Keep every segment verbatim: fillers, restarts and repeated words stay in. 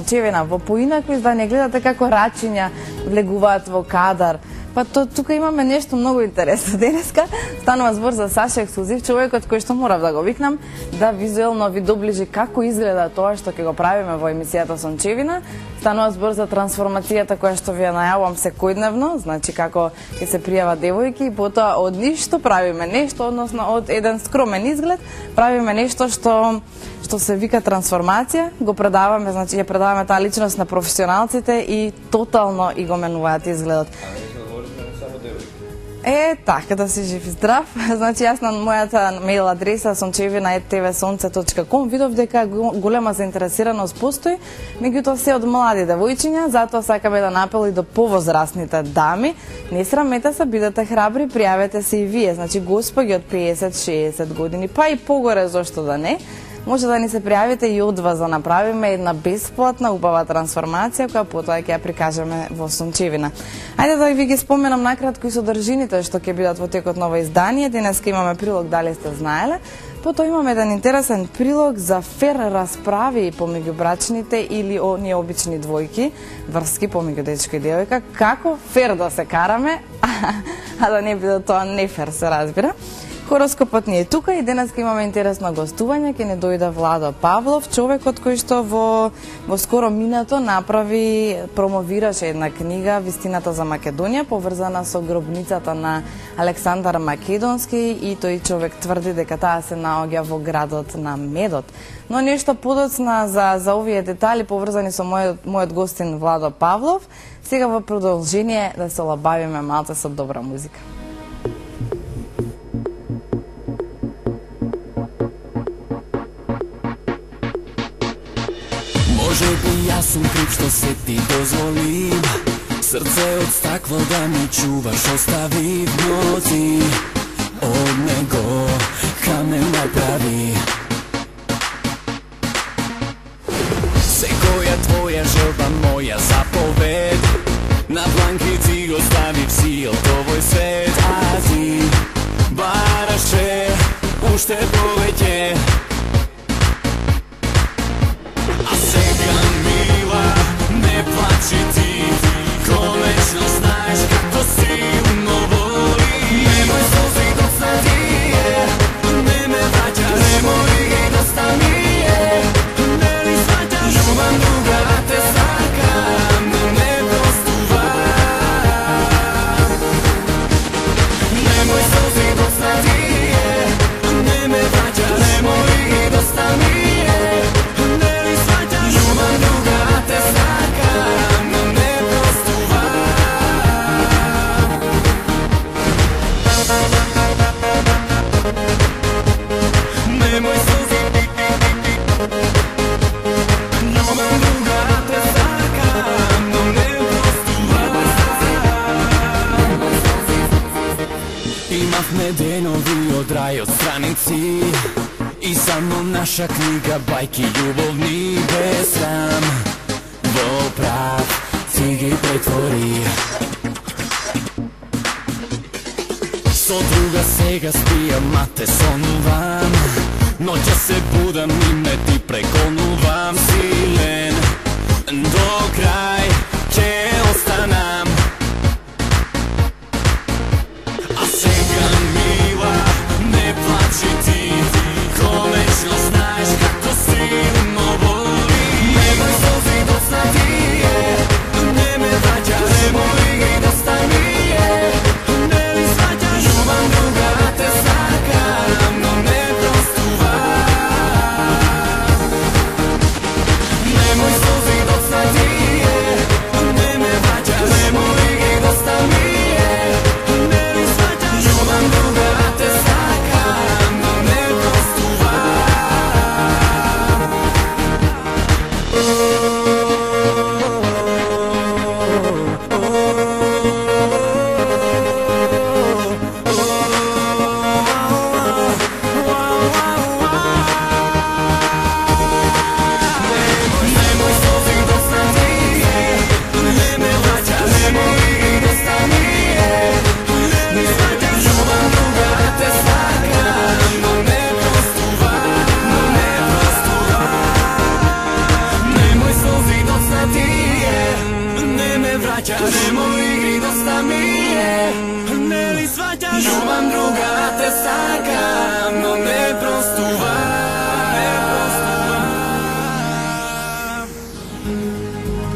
сончевина. Во поинакви издание гледате како рачиња влегуваат во кадар. Па то, тука имаме нешто многу интересно. Денеска станува збор за Саша Ексклузив, човекот кој што морав да го викнам, да визуелно ви доближи како изгледа тоа што ќе го правиме во емисијата Сончевина. Станува збор за трансформацијата која што ви ја најавувам секојдневно, значи како ќе се пријава девојки и потоа од ништо правиме нешто, односно од еден скромен изглед правиме нешто што што се вика трансформација, го предаваме, значи ја предаваме таа личност на професионалците и тотално и го менуваат изгледот. Е, така, да си жив и здрав. Значи, јас на мојата мејл адреса сончевина ет те ве сонце точка ком видов дека голема заинтересираност постои, меѓутоа се од млади девојчиња, затоа сакаме да напел и до повозрастните дами. Не срамете се, бидете храбри, пријавете се и вие. Значи, господи од песет до шесет години, па и погоре, зошто да не. Може да ни се пријавите и од вас да направиме една бесплатна убава трансформација која потоа ќе ја прикажеме во Сончевина. Ајде да ви ги споменам накратко и содржините што ќе бидат во текот на ова издание. Денеска имаме прилог, дали сте знаеле. Потоа имаме еден интересен прилог за фер расправи помеѓу брачните или оние обични двојки, врски помеѓу дечко и девојка, како фер да се караме, а да не биде тоа не фер, се разбира. Хороскопот ни е тука и денеска имаме интересно гостување, ќе не дојде Владо Павлов, човекот кој што во, во скоро минато направи, промовираше една книга Вистината за Македонија, поврзана со гробницата на Александар Македонски, и тој човек тврди дека таа се наоѓа во градот на медот. Но нешто подоцна за, за овие детали поврзани со мојот, мојот гостин Владо Павлов, сега во продолжение да се олабавиме малце со добра музика. Може би јас сум крив што се ти дозволим, срце од стакло да ми чуваш, остави ноци од него камен направи. Секоја твоја желба, моја заповед, на бланкици го ставив си од овој свет, а ти бараше уште повеќе. Не плачи ти, конечно знаеш како силно воли. Немој солзи доста ти е, не ме враќаш, немој ги доста ми е, не ли сваќаш, љубам друга те сакам, но не простувам. Немој солзи доста ти е, не ме враќаш, немој ги доста ми е, не ли сваќаш, љубам друга те сакам, но не простувам. Немој солзи, љубам друга те сакам, но не простувам. Имавме денови од рајот страници и само наша книга бајки љубовни без срам. Во прав си ги претвори. Со друга сега спијам, а те сонувам. Ноќа се будам и ме ти преконувам. Силен до крај ќе останам. А сега мила, не плачи ти, конечно знаеш како силно воли. Немој солзи доста ти е, не ме враќаш, немој ги доста ми е, не ли сваќаш, љубам друга те сакам, но не простувам. Немој солзи доста ти е, не ме те сакам, но не простува.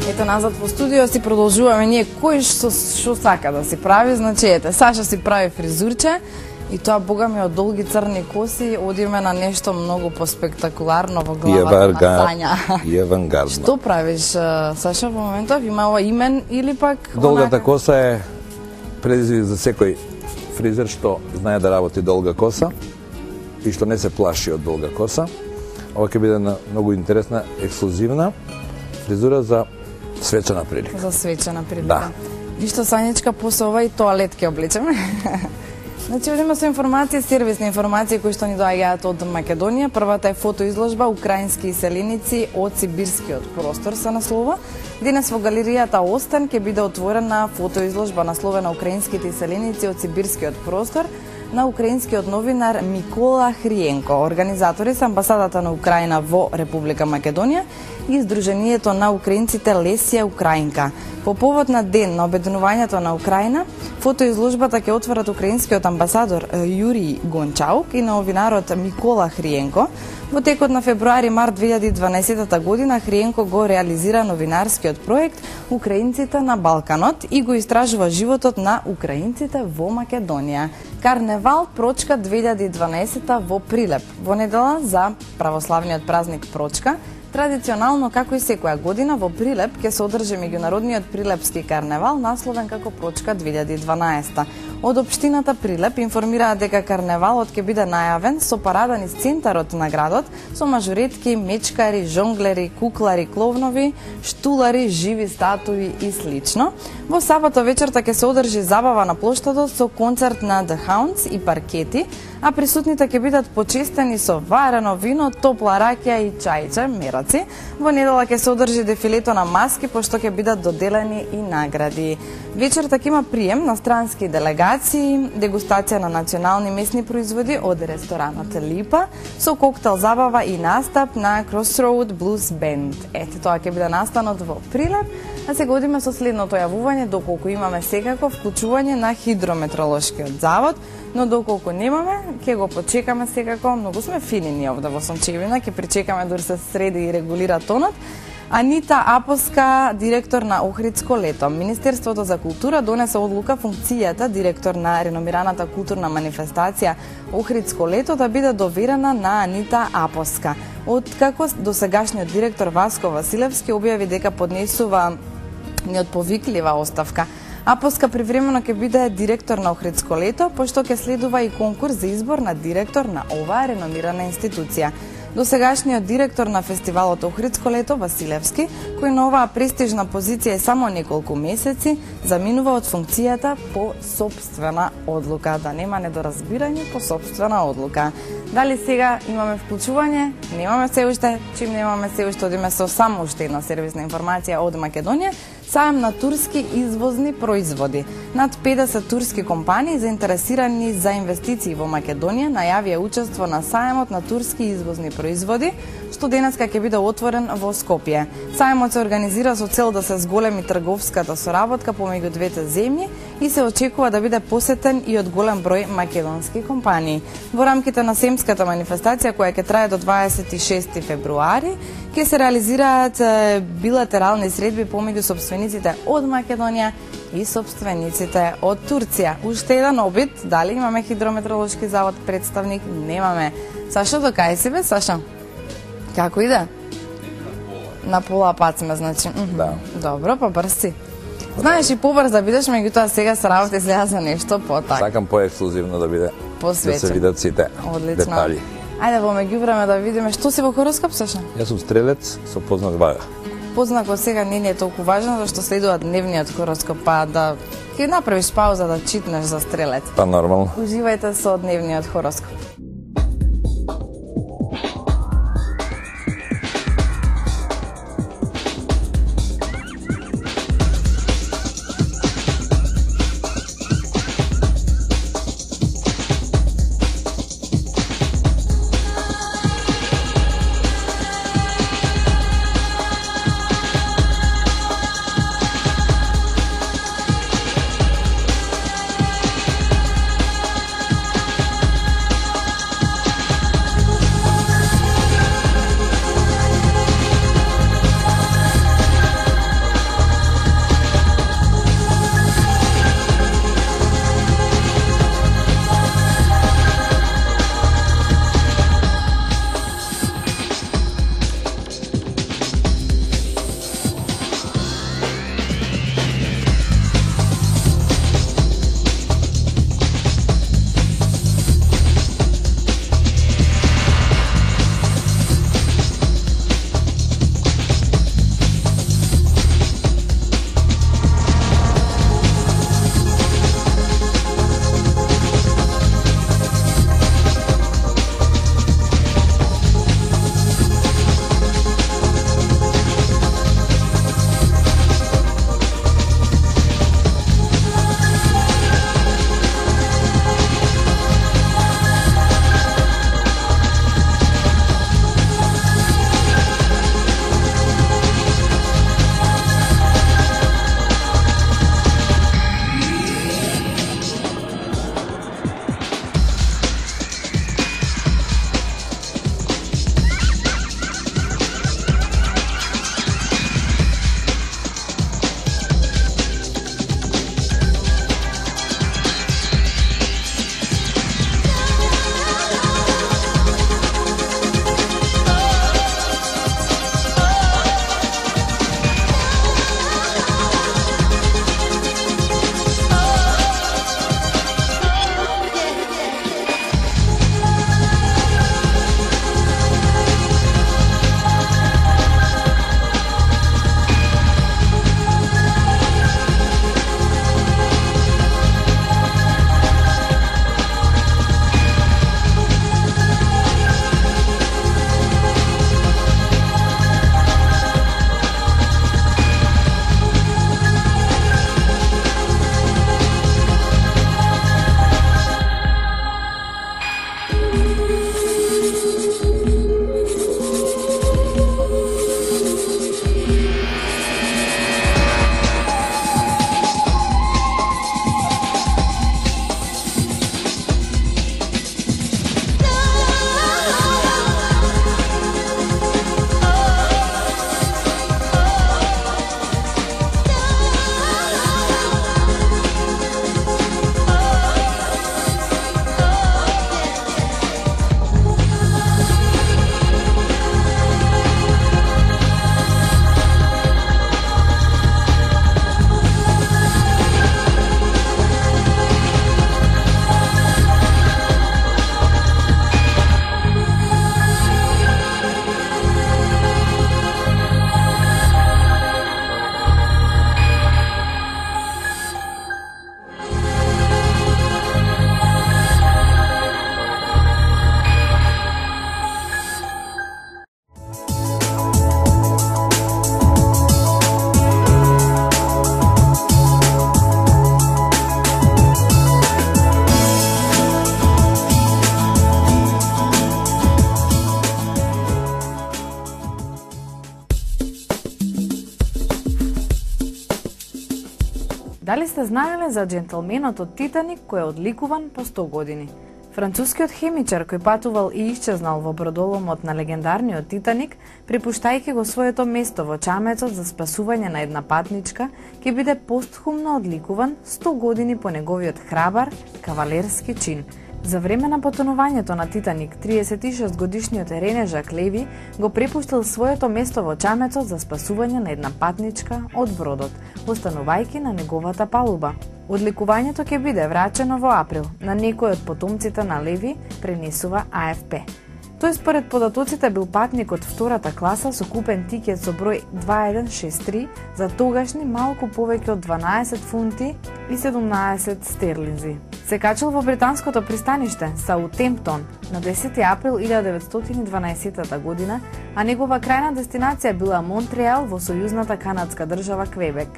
Ето назад во студио си продолжуваме ние кој што што сака да си прави, значи ете Саша си прави фризурче и тоа бога ми од долги црни коси одиме на нешто многу поспектакуларно во главата на Сања. И авангардно. Што правиш, Саша, во моментов? Има ова имен или пак Долгата онака... коса е предизвик за секој фризер што знае да работи долга коса и што не се плаши од долга коса. Ова ќе биде на многу интересна, ексклузивна фризура за свечена прилика. За свечена прилика. Да. И што Сањечка после ова и тоалет ќе облечеме. Значи, одиме со информации, сервисни информации кои што ни доаѓаат од Македонија. Првата е фотоизложба Украински иселеници од сибирскиот простор се наслова. Денес во галеријата Остан ќе биде отворена фотоизложба насловена Украинските иселеници од сибирскиот простор на украинскиот новинар Микола Хриенко. Организатори се амбасадата на Украина во Република Македонија и Сдруженијето на украинците Лесија Украинка. По повод на ден на обединувањето на Украина, фотоизложбата ќе отворат украинскиот амбасадор Јурий Гончаук и новинарот Микола Хриенко. Во текот на февруари-март две илјади и дванаесетта година Хриенко го реализира новинарскиот проект Украинците на Балканот и го истражува животот на украинците во Македонија. Карневал Прочка две илјади и дванаесетта во Прилеп. Во недела за православниот празник Прочка, традиционално како и секоја година во Прилеп ќе се одржи меѓународниот Прилепски карневал насловен како Прочка две илјади и дванаесетта. Од општината Прилеп информираат дека карневалот ќе биде најавен со парада низ центарот на градот со мажоретки, мечкари, жонглери, куклари, кловнови, штулари, живи статуи и слично. Во сабота вечерта ќе се одржи забава на плоштадот со концерт на The Hounds и паркети, а присутните ќе бидат почестени со варено вино, топла ракија и чајче, мераци. Во недела ќе се одржи дефилето на маски, пошто ќе бидат доделени и награди. Вечерта ќе има прием на странски делегации, дегустација на национални месни производи од ресторанот Липа, со коктел забава и настап на Crossroad Blues Band. Ете, тоа ќе биде настанот во Прилеп, а сега одиме со следното јавување, доколку имаме секако вклучување на Хидрометролошкиот завод, но доколку немаме, ќе го почекаме секако. Многу сме фини ние овде во Сончевина, ќе причекаме дури се среди и регулира тонот. Анита Апоска, директор на Охридско лето. Министерството за култура донесе одлука функцијата директор на реномираната културна манифестација Охридско лето да биде доверена на Анита Апоска. Откако досегашниот директор Васко Василевски објави дека поднесува неотповиклива оставка, Апоска привремено ќе биде директор на Охридско лето, пошто ќе следува и конкурс за избор на директор на оваа реномирана институција. Досегашниот директор на фестивалот Охридско лето Василевски, кој на оваа престижна позиција е само неколку месеци, заминува од функцијата по сопствена одлука. Да нема недоразбирање, по сопствена одлука. Дали сега имаме вклучување? Немаме се уште. Чим немаме се уште, одиме со само уште една сервисна информација од Македонија. Сајам на турски извозни производи. Над педесет турски компании заинтересирани за инвестиции во Македонија најавија учество на сајмот на турски извозни производи, што денеска ќе биде отворен во Скопје. Сајмот се организира со цел да се зголеми трговската соработка помеѓу двете земји и се очекува да биде посетен и од голем број македонски компании. Во рамките на семската манифестација, која ќе трае до дваесет и шести февруари, ќе се реализираат билатерални средби помеѓу собствениците од Македонија и собствениците од Турција. Уште еден обид, дали имаме Хидрометролошки завод представник? Немаме. Саша, до кај си бе, Саша? Како иде? На пола пат сме, значи. Да. Добро, па брз си. Знаеш и побрз да бидеш, меѓутоа сега се работи изгледа за нешто по-так. Сакам по-ексклузивно да биде, посвечен. да се видат сите Одлично. детали. Ајде во меѓувреме да видиме што си во хороскоп, Саша? Јас сум стрелец со познак вага. Познакот сега не е толку важен, зашто следува дневниот хороскоп, па да ќе направиш пауза да читнеш за стрелец. Па нормално. Уживајте со дневниот хороскоп. Дали сте знаеле за џентлменот од Титаник кој е одликуван по сто години? Францускиот хемичар кој патувал и исчезнал во бродоломот на легендарниот Титаник, припуштајќи го своето место во чамецот за спасување на една патничка, ќе биде постхумно одликуван сто години по неговиот храбар кавалерски чин. За време на потонувањето на Титаник, триесет и шест годишниот Рене Жак Леви го препуштил своето место во чамецот за спасување на една патничка од бродот, останувајќи на неговата палуба. Одликувањето ќе биде врачено во април на некој од потомците на Леви, пренесува А Ф П. Тој според податоците бил патник од втората класа со купен тикет со број дваесет и еден шесет три за тогашни малку повеќе од дванаесет фунти и седумнаесет стерлинзи. Се качил во британското пристаниште Саутемптон на десети април илјада деветстотини и дванаесеттата година, а негова крајна дестинација била Монтреал во сојузната канадска држава Квебек.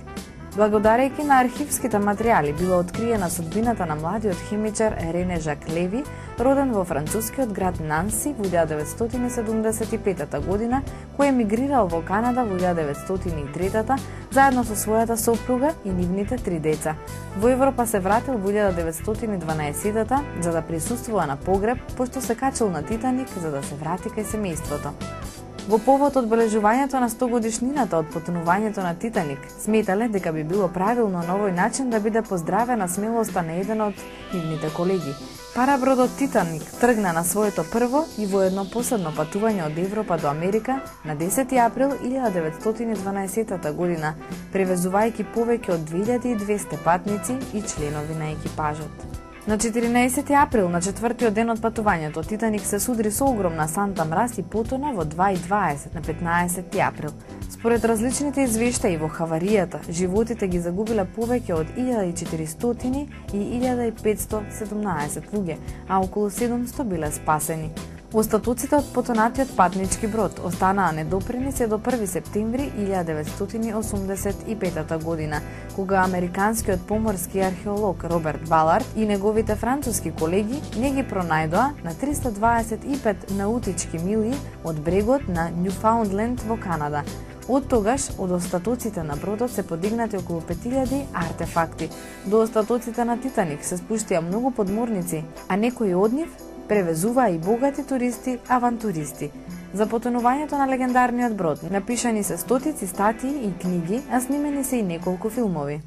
Благодарејќи на архивските материјали била откриена судбината на младиот химичар Рене Жак Леви, роден во францускиот град Нанси во илјада деветстотини и седумдесет и петата година, кој емигрирал во Канада во илјада деветстотини и третата заедно со својата сопруга и нивните три деца. Во Европа се вратил во илјада деветстотини и дванаесеттата за да присуствува на погреб, пошто се качил на Титаник за да се врати кај семејството. Во повод одбележувањето на сто годишнината од потонувањето на Титаник, сметале дека би било правилно на овој начин да биде поздравена смелоста на еден од нивните колеги. Парабродот Титаник тргна на своето прво и воедно последно патување од Европа до Америка на десети април илјада деветстотини и дванаесеттата година, превезувајќи повеќе од две илјади и двесте патници и членови на екипажот. На четиринаесети април, на четвртиот ден од патувањето, Титаник се судри со огромна санта мраз и потона во два и дваесет на петнаесети април. Според различните извештаи во хаваријата, животите ги загубиле повеќе од илјада и четиристотини и илјада и петстотини и седумнаесет луѓе, а околу седумсто биле спасени. Остатоците од потонатиот патнички брод останаа недопрени се до први септември илјада деветстотини и осумдесет и петата година, кога американскиот поморски археолог Роберт Балард и неговите француски колеги не ги пронајдоа на триста дваесет и пет наутички милји од брегот на Нјуфаундленд во Канада. Од тогаш, од остатоците на бродот се подигнати околу пет илјади артефакти. До остатоците на Титаник се спуштија многу подморници, а некои од нив превезуваа и богати туристи, авантуристи. За потонувањето на легендарниот брод напишани се стотици статии и книги, а снимени се и неколку филмови.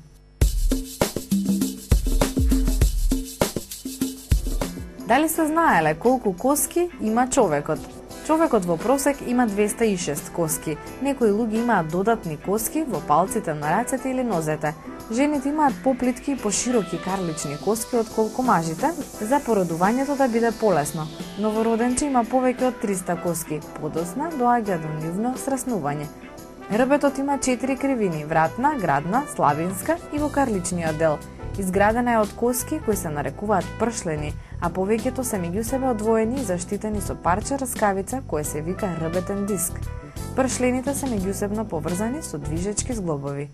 Дали сте знаеле колку коски има човекот? Човекот во просек има двесте и шест коски. Некои луѓе имаат додатни коски во палците на рацете или нозете. Жените имаат поплитки и пошироки карлични коски отколку мажите, за породувањето да биде полесно. Новороденче има повеќе од триста коски, подоцна доаѓа до нивно сраснување. Рбетот има четири кривини: вратна, градна, славинска и во карличниот дел. Изградена е од коски кои се нарекуваат пршлени, а повеќето се меѓу себе одвоени и заштитени со парче раскавица кое се вика рбетен диск. Пршлените се меѓусебно поврзани со движечки зглобови.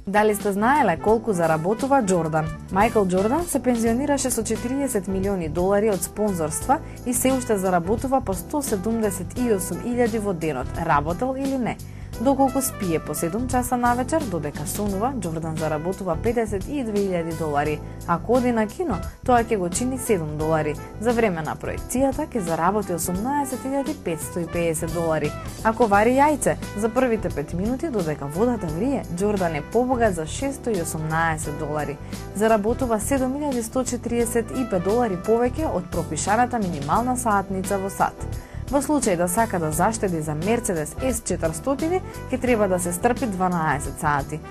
Дали сте знаеле колку заработува Џордан? Мајкл Џордан се пензионираше со четириесет милиони долари од спонзорства и се уште заработува по сто седумдесет и осум илјади во денот, работел или не. Доколку спие по седум часа навечер, додека сонува, Џордан заработува педесет и две илјади долари. Ако оди на кино, тоа ќе го чини седум долари. За време на проекцијата ќе заработи осумнаесет илјади петсто и педесет долари. Ако вари јајце, за првите пет минути додека водата врие, Џордан е побогат за шестстотини и осумнаесет долари. Заработува седум илјади сто четириесет и пет долари повеќе од пропишаната минимална саатница во сат. Во случај да сака да заштеди за Мерцедес С четиристотини, ќе треба да се стрпи дванаесет сати.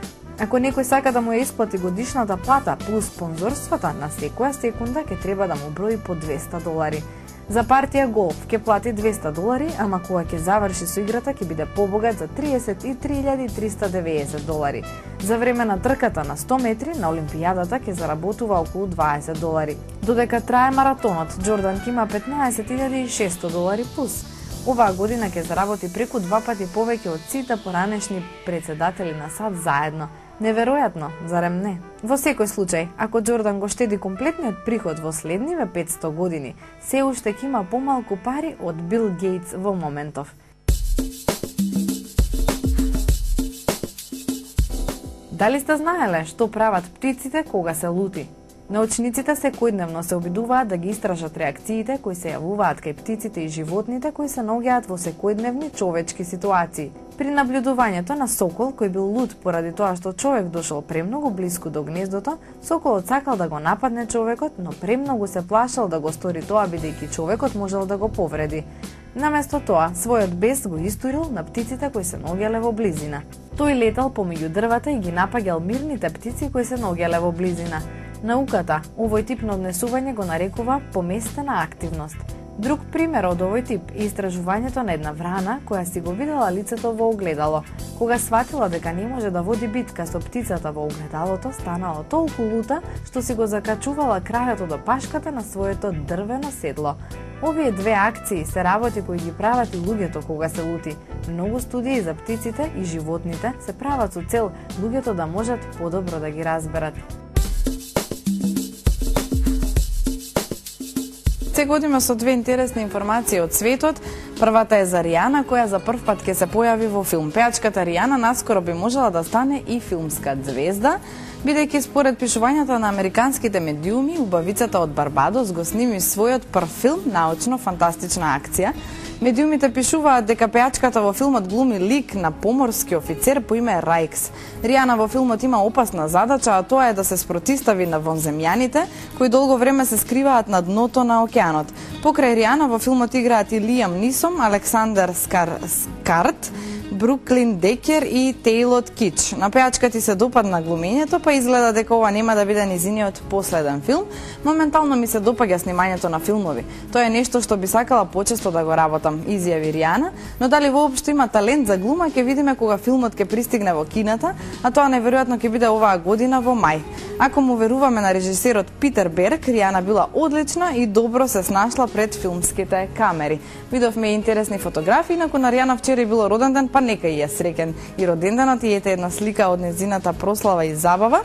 Ако некој сака да му ја исплати годишната плата плюс спонзорствата, на секоја секунда ќе треба да му брои по двесте долари. За партија голф ќе плати двесте долари, ама кога ќе заврши со играта ќе биде побогат за триесет и три илјади триста и деветдесет долари. За време на трката на сто метри на Олимпијадата ќе заработува околу дваесет долари. Додека трае маратонот, Џордан ќе има петнаесет илјади и шестстотини долари плюс. Оваа година ќе заработи преку два пати повеќе од сите поранешни председатели на САД заедно. Неверојатно, зарем не? Во секој случај, ако Џордан го штеди комплетниот приход во следниве петсто години, се уште ќе има помалку пари од Бил Гейтс во моментов. Дали сте знаеле што прават птиците кога се лути? Научниците секојдневно се обидуваат да ги истражат реакциите кои се јавуваат кај птиците и животните кои се наоѓаат во секојдневни човечки ситуации. При наблюдувањето на сокол кој бил лут поради тоа што човек дошол премногу блиску до гнездото, соколот сакал да го нападне човекот, но премногу се плашал да го стори тоа бидејќи човекот можел да го повреди. Наместо тоа, својот бес го истурил на птиците кои се наоѓале во близина. Тој летал помеѓу дрвата и ги напаѓал мирните птици кои се наоѓале во близина. Науката овој тип на однесување го нарекува поместена активност. Друг пример од овој тип е истражувањето на една врана која си го видела лицето во огледало. Кога сватила дека не може да води битка со птицата во огледалото, станала толку лута што си го закачувала крајото до пашката на своето дрвено седло. Овие две акции се работи кои ги прават и луѓето кога се лути. Многу студии за птиците и животните се прават со цел луѓето да можат подобро да ги разберат. Се годиме со две интересни информации од светот. Првата е за Ријана, која за прв пат ќе се појави во филм. Пејачката Ријана наскоро би можела да стане и филмска звезда, бидејќи според пишувањата на американските медиуми, убавицата од Барбадос го сними својот прв филм, научно-фантастична акција. Медиумите пишуваат дека пејачката во филмот глуми лик на поморски офицер по име Рајкс. Ријана во филмот има опасна задача, а тоа е да се спротистави на вонземјаните, кои долго време се скриваат на дното на океанот. Покрај Ријана во филмот играат и Лиам Нисом, Александър Скар... Скарт, Бруклин Декер и Тейлот Кич. На пејачка ти се допадна глумењето, па изгледа дека ова нема да биде низиниот последен филм. Моментално ми се допаѓа снимањето на филмови. Тоа е нешто што би сакала почесто да го работам, изјави Ријана, но дали воопшто има талент за глума ќе видиме кога филмот ќе пристигне во кината, а тоа неверојатно ќе биде оваа година во мај. Ако му веруваме на режисерот Питер Берг, Ријана била одлична и добро се снашла пред филмските камери. Видовме интересни фотографии, инаку на Ријана вчера е било роден ден, па нека и ја среќен и роденденот и ете една слика од незината прослава и забава.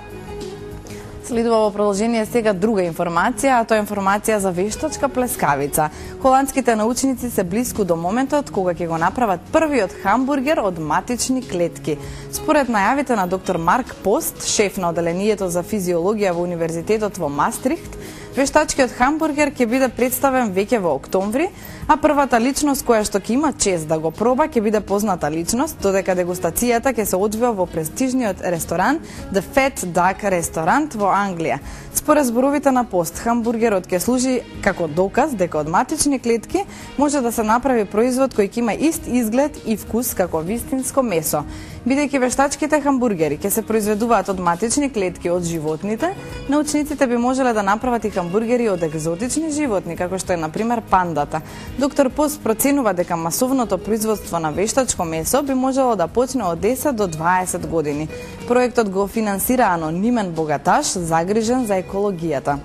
Следува во продолжение сега друга информација, а тоа е информација за вештачка плескавица. Холандските научници се блиску до моментот кога ќе го направат првиот хамбургер од матични клетки. Според најавите на доктор Марк Пост, шеф на оделението за физиологија во Универзитетот во Мастрихт, вештачкиот хамбургер ќе биде представен веќе во октомври, а првата личност која што ќе има чест да го проба ќе биде позната личност, додека дегустацијата ќе се одвива во престижниот ресторан The Fat Duck Restaurant во Англија. Според зборовите на Пост, хамбургерот ќе служи како доказ дека од матични клетки може да се направи производ кој ќе има ист изглед и вкус како вистинско месо. Бидејќи вештачките хамбургери ќе се произведуваат од матични клетки од животните, научниците би можеле да направат и хамбургери од екзотични животни, како што е на пример пандата. Доктор Пост проценува дека масовното производство на вештачко месо би можело да почне од десет до дваесет години. Проектот го финансира анонимен богаташ загрижен за екологијата.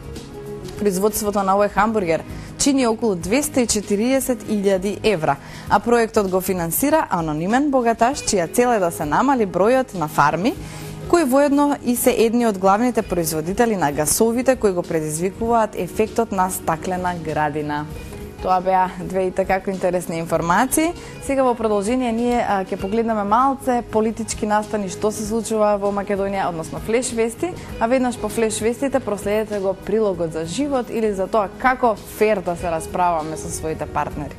Производството на овој хамбургер чини околу двесте и четириесет илјади евра, а проектот го финансира анонимен богаташ чија цел е да се намали бројот на фарми, кои воедно и се едни од главните производители на гасовите кои го предизвикуваат ефектот на стаклена градина. Тоа беа две и така интересни информации. Сега во продолжение ние а, ќе погледнеме малце политички настани што се случува во Македонија, односно флеш вести, а веднаш по флеш вестите проследете го прилогот за живот или за тоа како фер да се расправаме со своите партнери.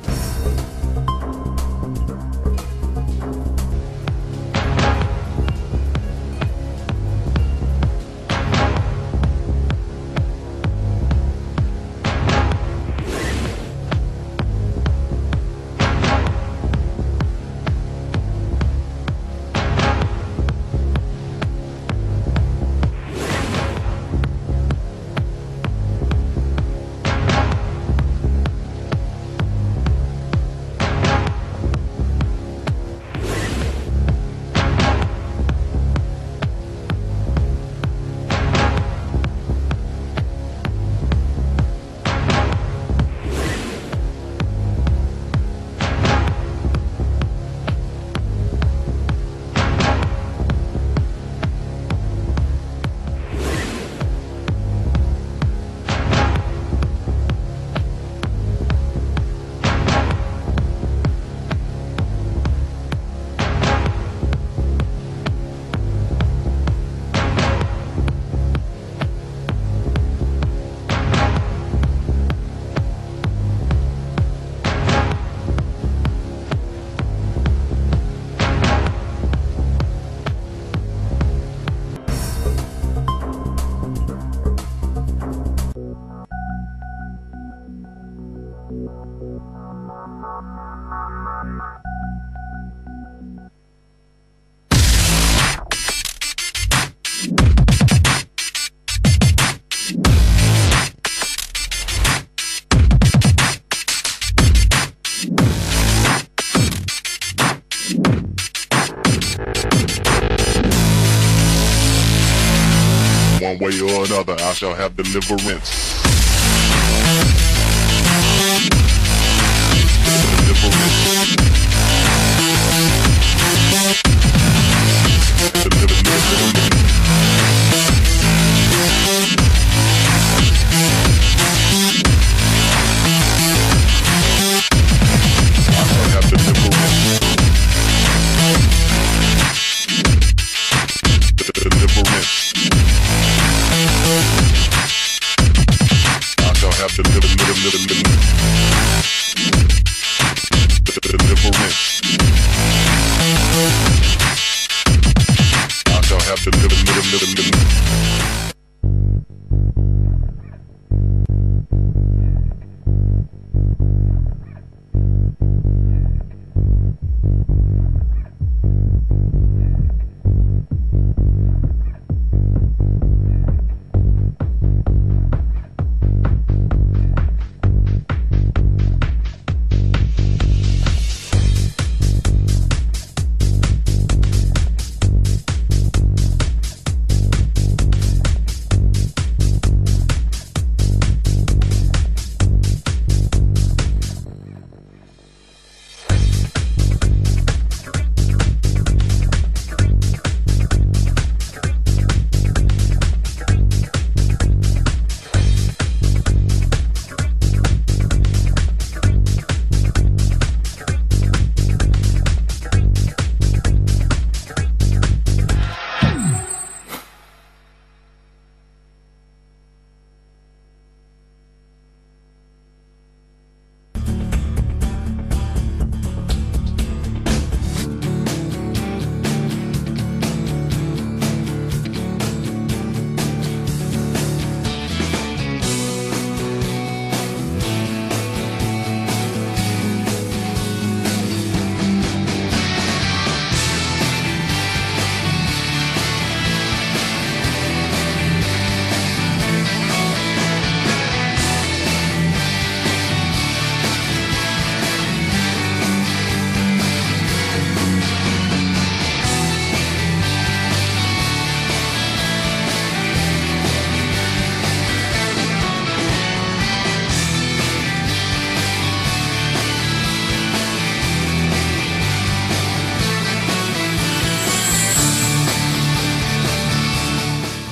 way or another, I shall have deliverance.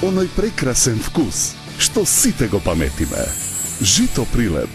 Оној прекрасен вкус, што сите го паметиме. Жито Прилеп.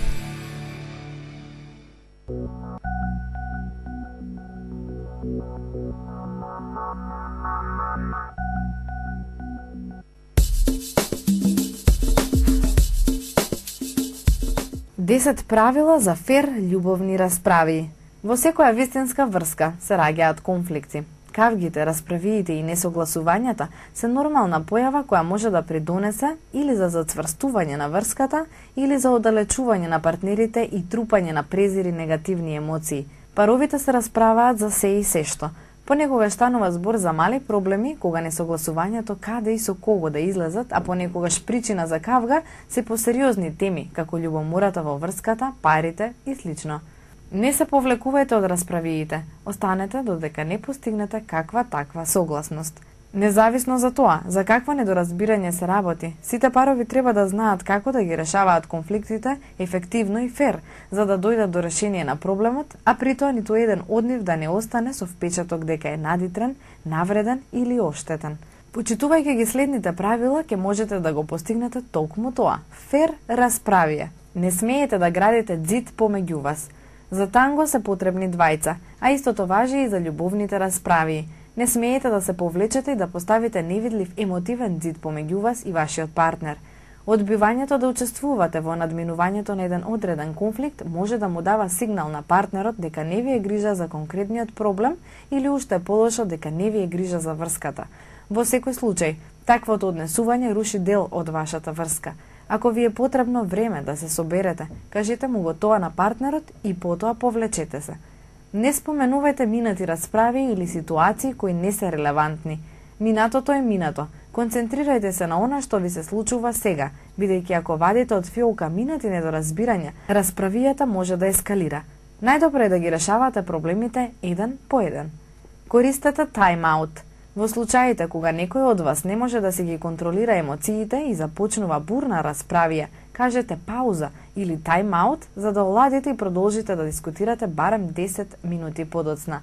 десет правила за фер љубовни расправи. Во секоја вистинска врска се раѓаат конфликти. Кавгите, расправиите и несогласувањата се нормална појава која може да придонесе или за зацврстување на врската, или за оддалечување на партнерите и трупање на презир и негативни емоции. Паровите се расправаат за се и сешто. Понекогаш станува збор за мали проблеми, кога несогласувањето каде и со кого да излезат, а понекогаш причина за кавга се посериозни теми, како љубомората во врската, парите и слично. Не се повлекувајте од расправиите, останете додека не постигнете каква таква согласност. Независно за тоа, за какво недоразбирање се работи, сите парови треба да знаат како да ги решаваат конфликтите ефективно и фер, за да дојдат до решение на проблемот, а при тоа ниту еден од нив да не остане со впечаток дека е надитрен, навреден или оштетен. Почитувајќи ги следните правила, ќе можете да го постигнете толкму тоа. Фер расправија. Не смеете да градите ѕид помеѓу вас. За танго се потребни двајца, а истото важи и за љубовните расправи. Не смеете да се повлечете и да поставите невидлив емотивен ѕид помеѓу вас и вашиот партнер. Одбивањето да учествувате во надминувањето на еден одреден конфликт може да му дава сигнал на партнерот дека не ви е грижа за конкретниот проблем или уште полошо дека не ви е грижа за врската. Во секој случај, таквото однесување руши дел од вашата врска. Ако ви е потребно време да се соберете, кажете му го тоа на партнерот и потоа повлечете се. Не споменувајте минати расправи или ситуации кои не се релевантни. Минатото е минато. Концентрирајте се на она што ви се случува сега, бидејќи ако вадите од фиолка минати недоразбирања, расправијата може да ескалира. Најдобро е да ги решавате проблемите еден по еден. Користете тайм-аут. Во случаите кога некој од вас не може да си ги контролира емоциите и започнува бурна расправија, кажете пауза или тайм-аут за да оладите и продолжите да дискутирате барем десет минути подоцна.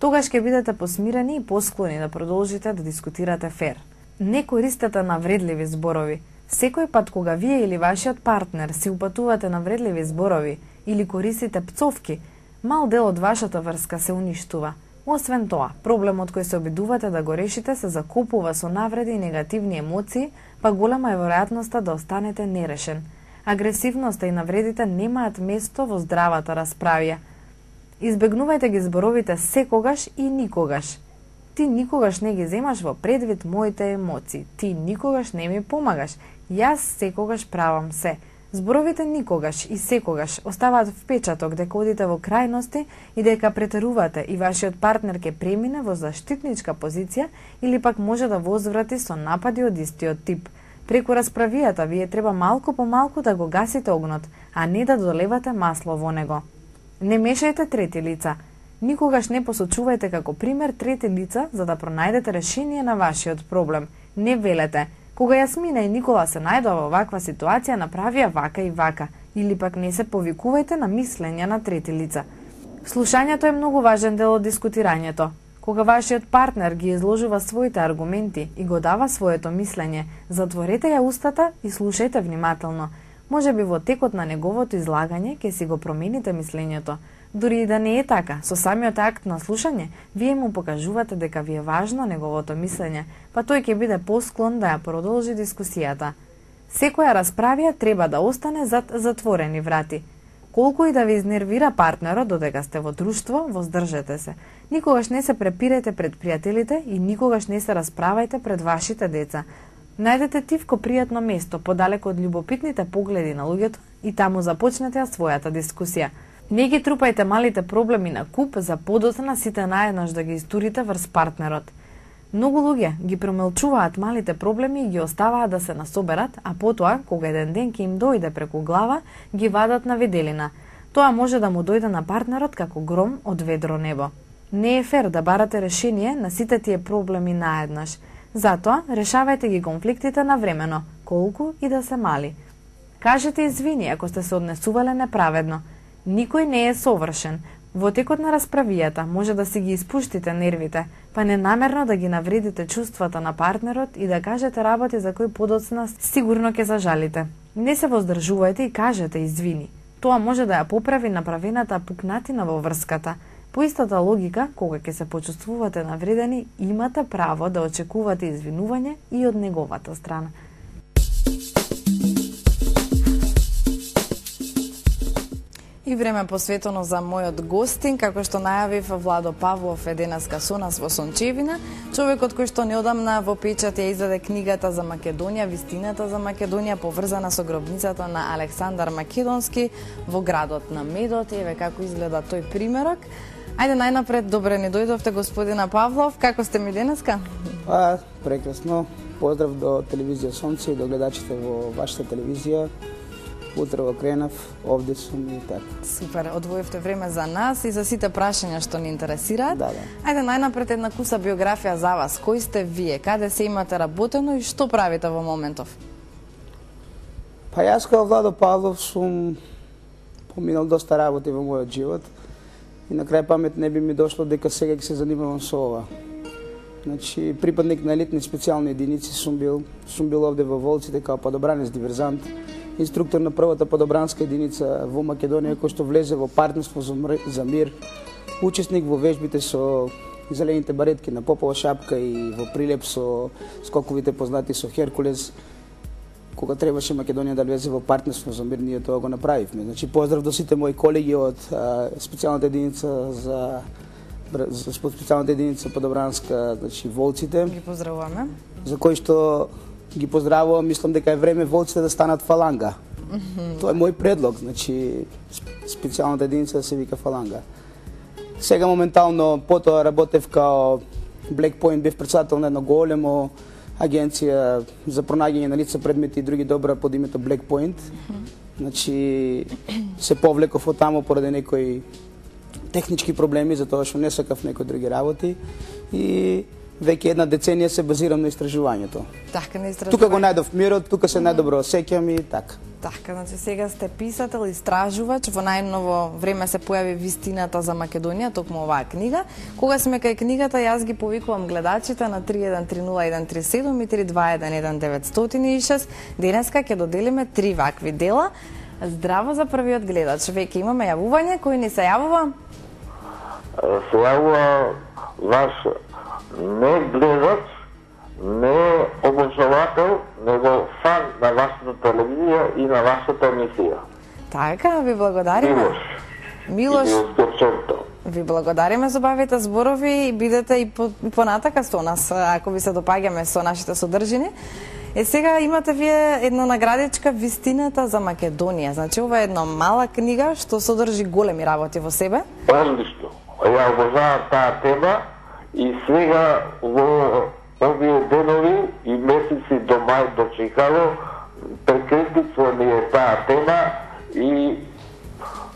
Тогаш ќе бидете посмирени и посклони да продолжите да дискутирате фер. Не користете навредливи зборови. Секој пат кога вие или вашиот партнер си упатувате навредливи зборови или користите пцовки, мал дел од вашата врска се уништува. Освен тоа, проблемот кој се обидувате да го решите се закопува со навреди и негативни емоции, па голема е веројатноста да останете нерешен. Агресивноста и навредите немаат место во здравата расправија. Избегнувајте ги зборовите секогаш и никогаш. Ти никогаш не ги земаш во предвид моите емоции. Ти никогаш не ми помагаш. Јас секогаш правам се. Зборовите никогаш и секогаш оставаат впечаток дека одите во крајности и дека претерувате и вашиот партнер ќе премине во заштитничка позиција или пак може да возврати со напади од истиот тип. Преку расправијата вие треба малку по малку да го гасите огнот, а не да долевате масло во него. Не мешајте трети лица. Никогаш не посочувајте како пример трети лица за да пронајдете решение на вашиот проблем. Не велете: кога Јасмина и Никола се најдоа во ваква ситуација, направија вака и вака, или пак не се повикувајте на мислења на трети лица. Слушањето е многу важен дел од дискутирањето. Кога вашиот партнер ги изложува своите аргументи и го дава своето мислење, затворете ја устата и слушајте внимателно. Може би во текот на неговото излагање ќе си го промените мислењето. Дури и да не е така, со самиот акт на слушање, вие му покажувате дека ви е важно неговото мислење, па тој ќе биде посклон да ја продолжи дискусијата. Секоја расправија треба да остане зад затворени врати. Колку и да ви изнервира партнерот додека сте во друштво, воздржете се. Никогаш не се препирете пред пријателите и никогаш не се расправајте пред вашите деца. Најдете тивко пријатно место, подалеку од љубопитните погледи на луѓето и таму започнете ја својата дискусија. Не ги трупајте малите проблеми на куп за подоцна сите наеднаш да ги истурите врз партнерот. Многу луѓе ги промелчуваат малите проблеми и ги оставаат да се насоберат, а потоа, кога еден ден ќе им дојде преку глава, ги вадат на виделина. Тоа може да му дојде на партнерот како гром од ведро небо. Не е фер да барате решение на сите тие проблеми наеднаш. Затоа, решавајте ги конфликтите навремено, колку и да се мали. Кажете извини ако сте се однесувале неправедно. Никој не е совршен. Во текот на расправијата може да си ги испуштите нервите, па ненамерно да ги навредите чувствата на партнерот и да кажете работи за кои подоцна сигурно ќе зажалите. Не се воздржувајте и кажете извини. Тоа може да ја поправи направената пукнатина во врската. По истата логика, кога ќе се почувствувате навредени, имате право да очекувате извинување и од неговата страна. И време посветено за мојот гостин, како што најавив, Владо Павлов е денеска со нас во Сончевина, човекот кој што неодамна во печат ја издаде книгата за Македонија, вистината за Македонија, поврзана со гробницата на Александар Македонски во градот на Медот. Еве како изгледа тој примерок. Ајде најнапред, добре ни дојдовте, господина Павлов, како сте ми денеска? А, прекрасно. Поздрав до телевизија Сонце и до гледачите во вашата телевизија. Утрово кренав, овде сум и така. Супер, одвоивте време за нас и за сите прашања што ни интересираат. Да, да. Ајде најнапред една куса биографија за вас. Кој сте вие? Каде се имате работено и што правите во моментов? Па јас као Владо Павлов сум поминал доста работи во мојот живот и на крај памет не би ми дошло дека сега ќе се занимавам со ова. Значи, припадник на елитни специјални единици сум бил, сум бил овде во Волците као падобранец диверзант, инструктор на првата падобранска единица во Македонија кој што влезе во партнерство за мир, учесник во вежбите со зелените баретки на Попова шапка и во прилеп со скоковите познати со Херкулес. Кога требаше Македонија да влезе во партнерство за мир, ние тоа го направивме. Значи, поздрав до сите мои колеги од а, специјалната единица за за специјалната единица падобранска, значи Волците. Ги поздравуваме. За кои што ги поздравувам, мислам дека е време Волците да станат фаланга. Mm-hmm. Тоа е мој предлог, значи специјалната единица да се вика фаланга. Сега моментално потоа работев као Black Point, бев председател на едно големо агенција за пронаѓање на лица, предмети и други добра под името Black Point. Mm-hmm. Значи се повлеков од таму поради некои технички проблеми, затоа што не сакав некои други работи и веќе една деценија се базирам на истражувањето. Така, на истражување. Тука го најдов мирот, тука се најдобро осеќам и така. Така, значи сега сте писател, истражувач, во најново време се појави Вистината за Македонија, токму оваа книга. Кога сме кај книгата, јас ги повикувам гледачите на три еден три нула еден три седум и три два еден еден девет нула шест. Денеска ќе доделиме три вакви дела. Здраво за првиот гледач. Веќе имаме јавување, кој ни се јавува? Се јавува ваш не гледач, не обожавател, него фан на вашата телевизија и на вашата емисија. Така, ви благодариме. Милош. Милош. Милош. Ви благодариме за убавите зборови и бидете и, по, и понатака со нас, ако ви се допаѓаме со нашите содржини. Е, сега имате вие една наградичка Вистината за Македонија. Значи, ова е една мала книга што содржи големи работи во себе. Одлично. Ја обожавам таа тема и сега во овие денови и месеци до мај до Чикаго прекретница ни е таа тема и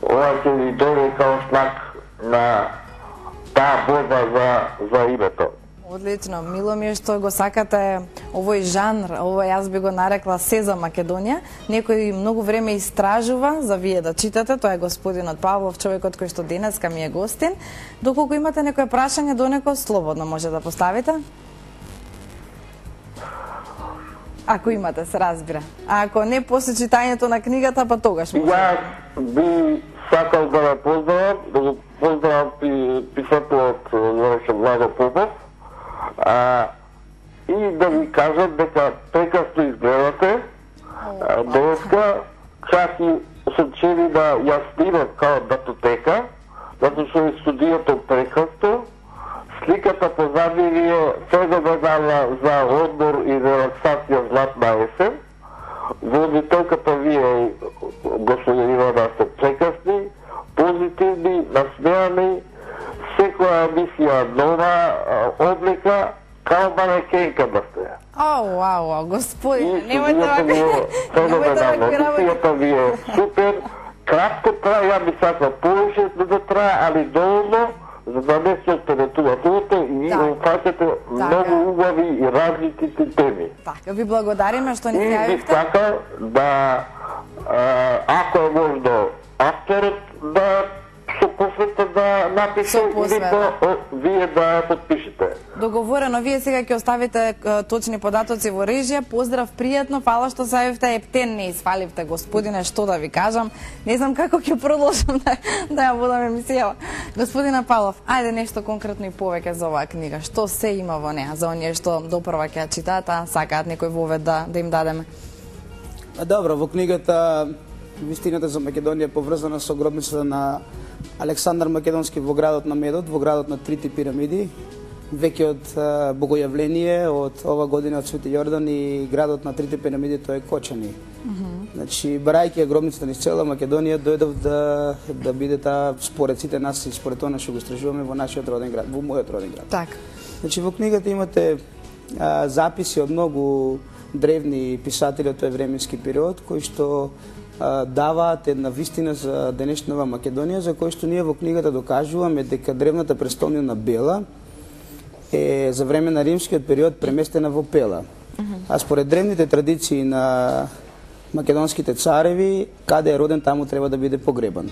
ова ќе ни дојде као знак на таа борба за, за името. Одлично, мило ми е што го сакате овој жанр, ова јас би го нарекла се за Македонија. Некој многу време истражува за вие да читате, тоа е господинот Павлов, човекот кој што денеска ми е гостин. Доколку имате некој прашање до некој, слободно може да поставите. Ако имате, се разбира. А ако не, после читањето на книгата, па тогаш може. Јас би сакал да ме поздравам, да го поздравам писателот Владо Попов, а, и да ви кажам дека прекрасно изгледате. Денеска чак и сум чели да ја снимам као датотека, затоа што е студиото прекрасно. Сликата позади ви е феноменална за одмор и релаксација златна есен. Водителката ви е, господин Ивана, сте прекрасни, позитивни, насмеани, секоја емисија нова облика, као манекенка да сте. Ау, ау, ау, господине, немојте вака. Феноменално, емисијата ви е супер, кратко трае, ја би сакал повеќе да трае, али доволно, за да не се оператувате и опфаќате многу убави и различните теми. Така, ви благодариме што ни се јавивте. И би сакал да, ако е можно, авторот да се посвета да напише или да вие да ја подпишете. Договорено, вие сега ќе оставите точни податоци во режија. Поздрав, пријатно, фала што се јавивте. Ептен не испаливте, господине, што да ви кажам. Не знам како ќе продолжам да, да ја водам емисија. Господина Павлов, ајде нешто конкретно и повеќе за оваа книга. Што се има во неа, за оние што допрва ќе ја читаат, а сакаат некој вовед да, да им дадеме? Добро, во книгата Вистината за Македонија е поврзана со гробницата на Александар Македонски во градот на Медот, во градот на трите пирамиди. Веќе од богојавление од ова година од Свети Јордан и градот на трите пирамиди тоа е Кочани. Mm -hmm. Значи, барајќи ја гробницата низ цела Македонија, дојдов да да биде таа според сите нас и според тоа што го истражуваме во нашиот роден град, во мојот роден град. Така. Значи, во книгата имате а, записи од многу древни писатели од тој временски период кои што даваат една вистина за денешнава Македонија, за кој што ние во книгата докажуваме дека древната престолнина Бела е за време на римскиот период преместена во Пела. А според древните традиции на македонските цареви, каде е роден, таму треба да биде погребан.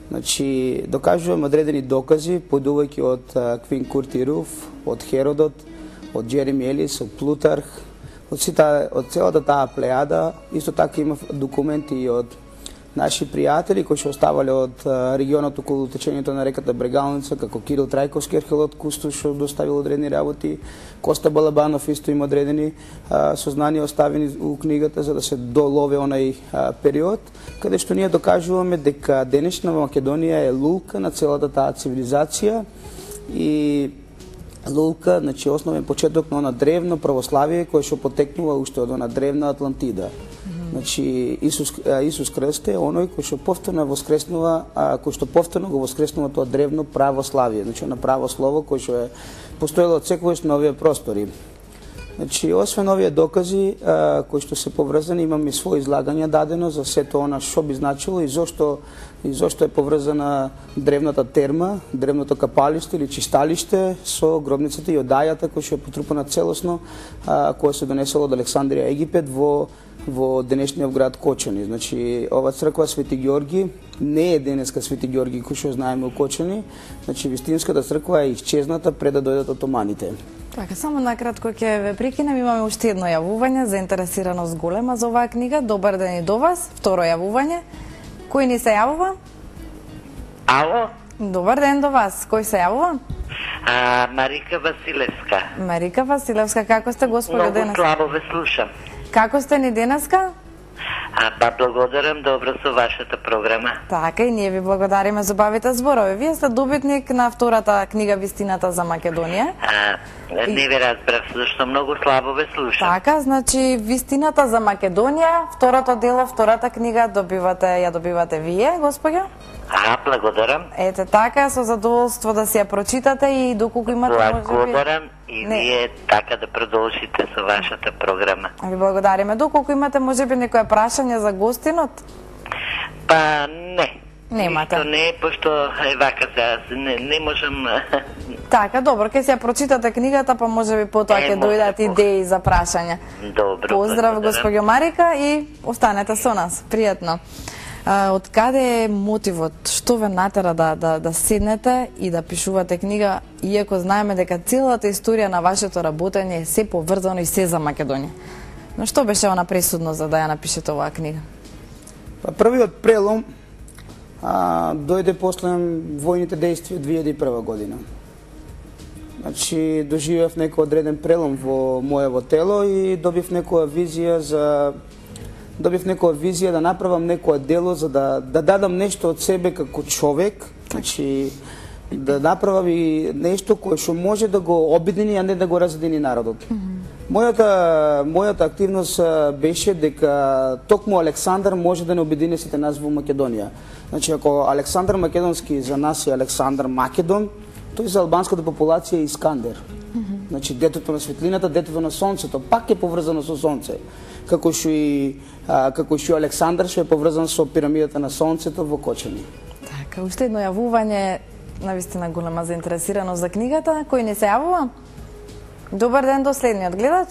Значи, докажуваме одредени докази, појдувајќи од Квин Куртируф, од Херодот, од Джереми Елис, од Плутарх, од, сита, од целата таа плејада. Исто така има документи и од наши пријатели кои што оставале од регионот околу течењето на реката Брегалница, како Кирил Трајковски, археолог Кустуш, што доставил одредени работи, Коста Балабанов исто има одредени а, сознанија оставени у книгата за да се долове онај а, период, каде што ние докажуваме дека денешна Македонија е лулка на целата таа цивилизација и лулка, значи основен почеток на она древно православие кое што потекнува уште од она древна Атлантида. Значи Исус Исус Христ е оној кој што повторно воскреснува, а, кој што повторно го воскреснува тоа древно православие, значи на право слово кој што е постоело од секогаш на овие простори. Значи, освен овие докази а, кои што се поврзани, имам и своје излагање дадено за сето она што би значило и зошто и зошто е поврзана древната терма, древното капалиште или чисталиште со гробницата и одајата која што е потрупана целосно, а, која се донесела од Александрија, Египет во во денешниот град Кочани. Значи, ова црква Свети Ѓорги не е денеска Свети Ѓорги кој што знаеме у Кочани. Значи, вистинската црква е исчезната пред да дојдат отоманите. Така, само накратко ќе ве прекинем, имаме уште едно јавување, заинтересираност голема за оваа книга. Добар ден и до вас. Второ јавување. Кој ни се јавува? Ало? Добар ден до вас. Кој се јавува? А, Марика Василевска. Марика Василевска, како сте, господи, Многу денес? слабо ве слушам. Како сте ни денеска? А, па благодарам, добро со вашата програма. Така, и ние ви благодариме за убавите зборови. Вие сте добитник на втората книга Вистината за Македонија. А, не ви разбрав, зашто многу слабо ве слушам. Така, значи Вистината за Македонија, второто дело, втората книга добивате, ја добивате вие, господја. А, благодарам. Ете така, со задоволство да си ја прочитате и доколку имате можеби... Благодарам и Не. вие така да продолжите со вашата програма. Ви благодариме. Доколку имате можеби некое прашање за гостинот? Па не. Немате. Ништо не, пошто е вака се, не, не можам... Така, добро, ќе си ја прочитате книгата, па можеби потоа Е, ќе може, дојдат може. идеи за прашања. Добро, Поздрав, благодарам. господјо Марика, и останете со нас. Пријатно. А, од каде е мотивот? Што ве натера да, да, да седнете и да пишувате книга, иако знаеме дека целата историја на вашето работење е се поврзано и се за Македонија? Но што беше она пресудно за да ја напишете оваа книга? Па првиот прелом а, дојде после војните действија две илјади и прва година. Значи, доживев некој одреден прелом во моево тело и добив некоја визија за добив некоја визија да направам некое дело за да да дадам нешто од себе како човек, значи да направам и нешто кое што може да го обедини, а не да го разедини народот. Mm -hmm. Мојата мојата активност а, беше дека токму Александар може да не обедини сите нас во Македонија. Значи, ако Александар Македонски за нас е Александар Македон, тој за албанската популација е Искандер. Mm -hmm. Значи, детето на светлината, детето на сонцето, пак е поврзано со сонце. Како што и а, како што Александар што е поврзан со пирамидата на сонцето во Кочани. Така, уште едно јавување, навистина голема заинтересираност за книгата. Кој не се јавува? Добар ден до следниот гледач.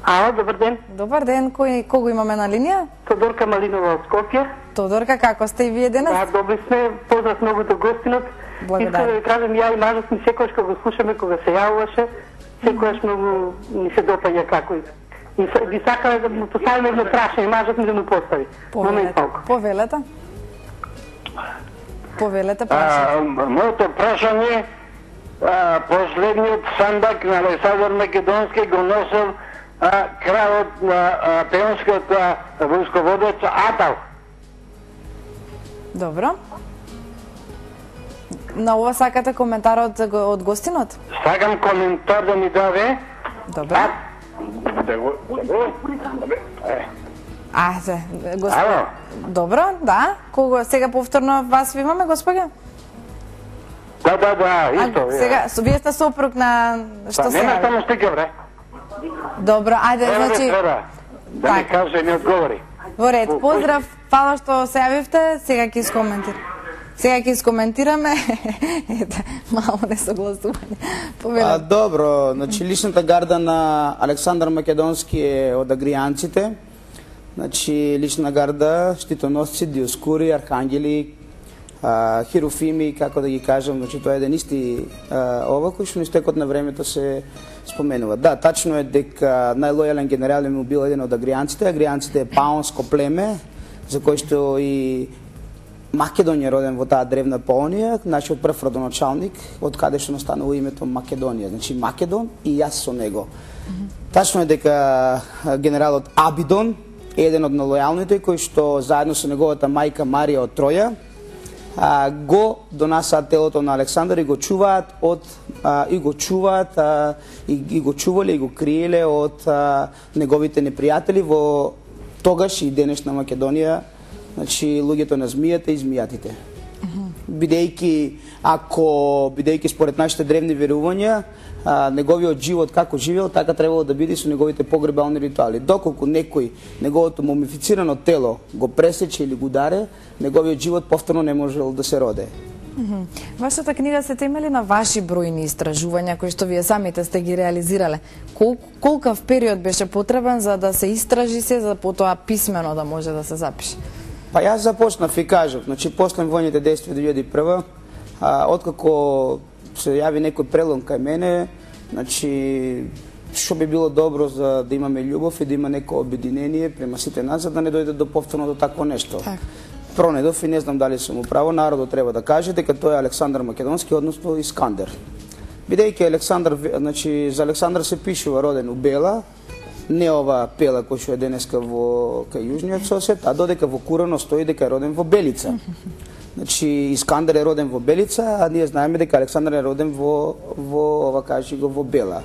Ало, добар ден. Добар ден, кој кого имаме на линија? Тодорка Малинова од Скопје. Тодорка, како сте и вие денес? Да, добри сме, поздрав многу до гостинот. Благодарам. Искам да ви кажам, ја и мажот ми секојаш кога го слушаме, кога се јавуваше, секојаш многу ми се допаѓа како и И би сакале да му поставиме едно прашање, мажот ми да му постави. Момент малку. Повелете. Повелете прашање. Моето прашање, а, последниот сандак на Александар Македонски го носел а, кралот на Пеонскиот војсководец Атал. Добро. На ова сакате коментар од, од гостинот? Сакам коментар да ми даде. Добро. А, да го... Ајде, господи. Добро, да. Кого сега повторно вас ви имаме, господи? Да, да, да, исто. А, сега, вие сте сопруг на... Што па, се нема јави? само стига, бре. Добро, ајде, Треба значи... треба да ми каже и ми одговори. Во ред, поздрав, фала што се јавивте, сега ќе искоментирам. Сега ќе искоментираме, ете, мало несогласување. А, добро, значи личната гарда на Александар Македонски е од агријанците. Значи лична гарда, штитоносци, диоскури, архангели, а, херофими, како да ги кажам, значи тоа е еден исти а, ова кој што на истекот на времето се споменува. Да, тачно е дека најлојален генерал му бил еден од агријанците. Агријанците е паонско племе, за кој што и Македонија роден во таа древна Паонија, нашиот прв родоначалник, од каде што настанува името Македонија. Значи Македон и јас со него. Mm -hmm. Тачно е дека генералот Абидон е еден од налојалните кои што заедно со неговата мајка Марија од Троја а, го донасаат телото на Александар и го чуваат од а, и го чуваат а, и, и го чувале и го криеле од а, неговите непријатели во тогаш и денешна Македонија. Значи, луѓето на змијата и змијатите. бидејќи ако бидејќи според нашите древни верувања, а, неговиот живот како живеел, така требало да биде со неговите погребални ритуали. Доколку некој неговото мумифицирано тело го пресече или го ударе, неговиот живот повторно не можел да се роде. Mm-hmm. Вашата книга се темели на ваши бројни истражувања кои што вие самите сте ги реализирале. Кол, колкав период беше потребен за да се истражи се, за потоа писмено да може да се запише? Па јас започнав и кажав, значи после војните действија две илјади и прва, а, откако се јави некој прелом кај мене, значи што би било добро за да имаме љубов и да има некој обединение према сите нас, за да не дојде до повторно до такво нешто. Так. Пронедов и не знам дали сум управо, народот треба да каже дека тој е Александар Македонски, односно Искандер. Бидејќи Александар, значи за Александар се пишува роден у Бела, не ова Пела кој што е денеска во кај јужниот сосед, а додека во Курано стои дека е роден во Белица. Значи Искандер е роден во Белица, а ние знаеме дека Александар е роден во во ова кажи го во Бела.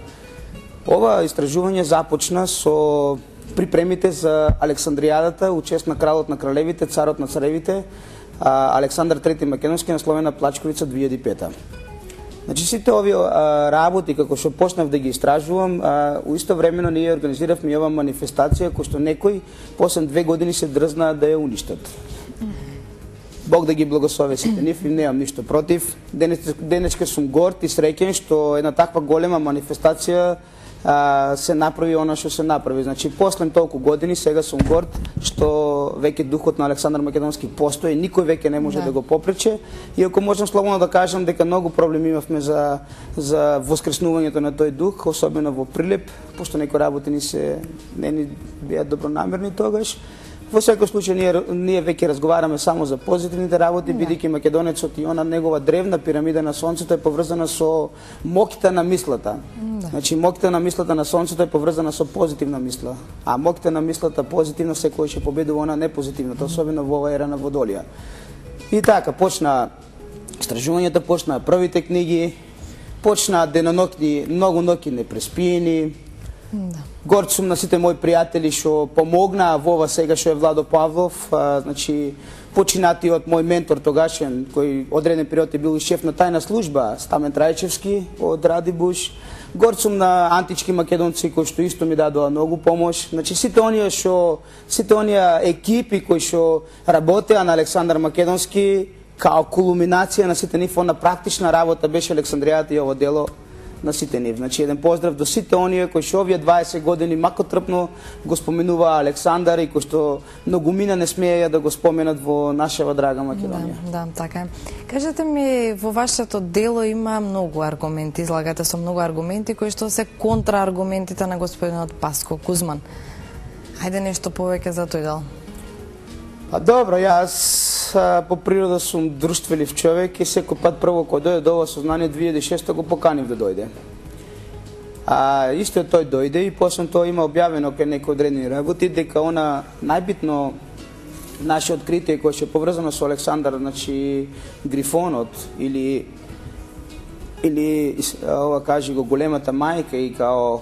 Ова истражување започна со припремите за Александријадата у чест на кралот на кралевите, царот на царевите, Александар трети Македонски, насловена Плачковица две илјади и пета. Значи сите овие а, работи како што почнав да ги истражувам, а, у исто времено ние организиравме ова манифестација кој што некој после две години се дрзна да ја уништат. Бог да ги благослови сите нив и немам ништо против. Денес, денеска сум горд и среќен што една таква голема манифестација а, се направи она што се направи. Значи, после толку години, сега сум горд што веќе духот на Александар Македонски постои, никој веќе не може да, да го попрече. И ако можам слободно да кажам дека многу проблеми имавме за, за воскреснувањето на тој дух, особено во Прилеп, пошто некои работи ни се не ни беа добронамерни тогаш. Во секој случај ние, ние веќе разговараме само за позитивните работи, бидејќи македонецот и она негова древна пирамида на сонцето е поврзана со моките на мислата. Да. Значи моките на мислата на сонцето е поврзана со позитивна мисла, а моките на мислата позитивна секој ќе победува она непозитивната, особено во ова ера на Водолија. И така почна истражувањата, почна првите книги, почна деноноќни, многу ноќи непреспиени. Да. Горд сум на сите мои пријатели што помогнаа во ова сега што е Владо Павлов, а, значи починатиот мој ментор тогашен, кој одреден период е бил и шеф на тајна служба, Стамен Трајчевски од Радибуш. Горд сум на антички македонци кои што исто ми дадоа многу помош. Значи сите оние што сите оние екипи кои што работеа на Александар Македонски као кулминација на сите нив, на практична работа беше Александријата и ово дело на сите нив. Значи еден поздрав до сите оние кои што овие дваесет години макотрпно го споменуваа Александар и кои што многумина не смееја да го споменат во нашава драга Македонија. Да, да, така е. Кажете ми, во вашето дело има многу аргументи, излагате со многу аргументи кои што се контрааргументите на господинот Паско Кузман. Хајде нешто повеќе за тој дел. А добро, јас а, по природа сум друштвелив човек и секој пат прво кога дојде до ова сознание две илјади и шеста го поканив да дојде. А исто тој дојде и после тоа има објавено кај некои одредени работи дека она најбитно наше откритие кое ќе поврзано со Александар, значи Грифонот или или ова кажи го големата мајка и као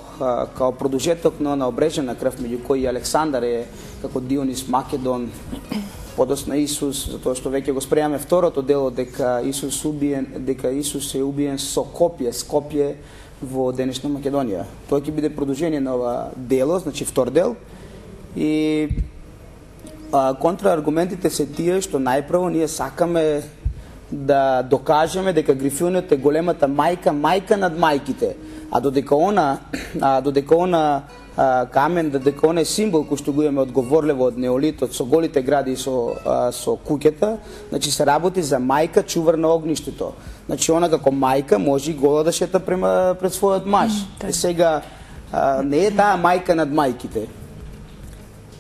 као продолжеток на обрежена крв меѓу кои Александар е како Дионис Македон, подосна Исус, затоа што веќе го спремаме второто дело дека Исус убиен, дека Исус е убиен со копје, с копје во денешна Македонија. Тоа ќе биде продолжение на ова дело, значи втор дел. И а, контрааргументите се тие што најпрво ние сакаме да докажеме дека Грифонот е големата мајка, мајка над мајките, а додека она, а додека она а, камен, додека она е символ кој што го имаме од Говорлево, од неолитот, со голите гради и со, а, со куќата, значи се работи за мајка чувар на огништето. Значи она како мајка може и гола да шета према пред својот маж. Mm, и сега а, не е таа мајка над мајките.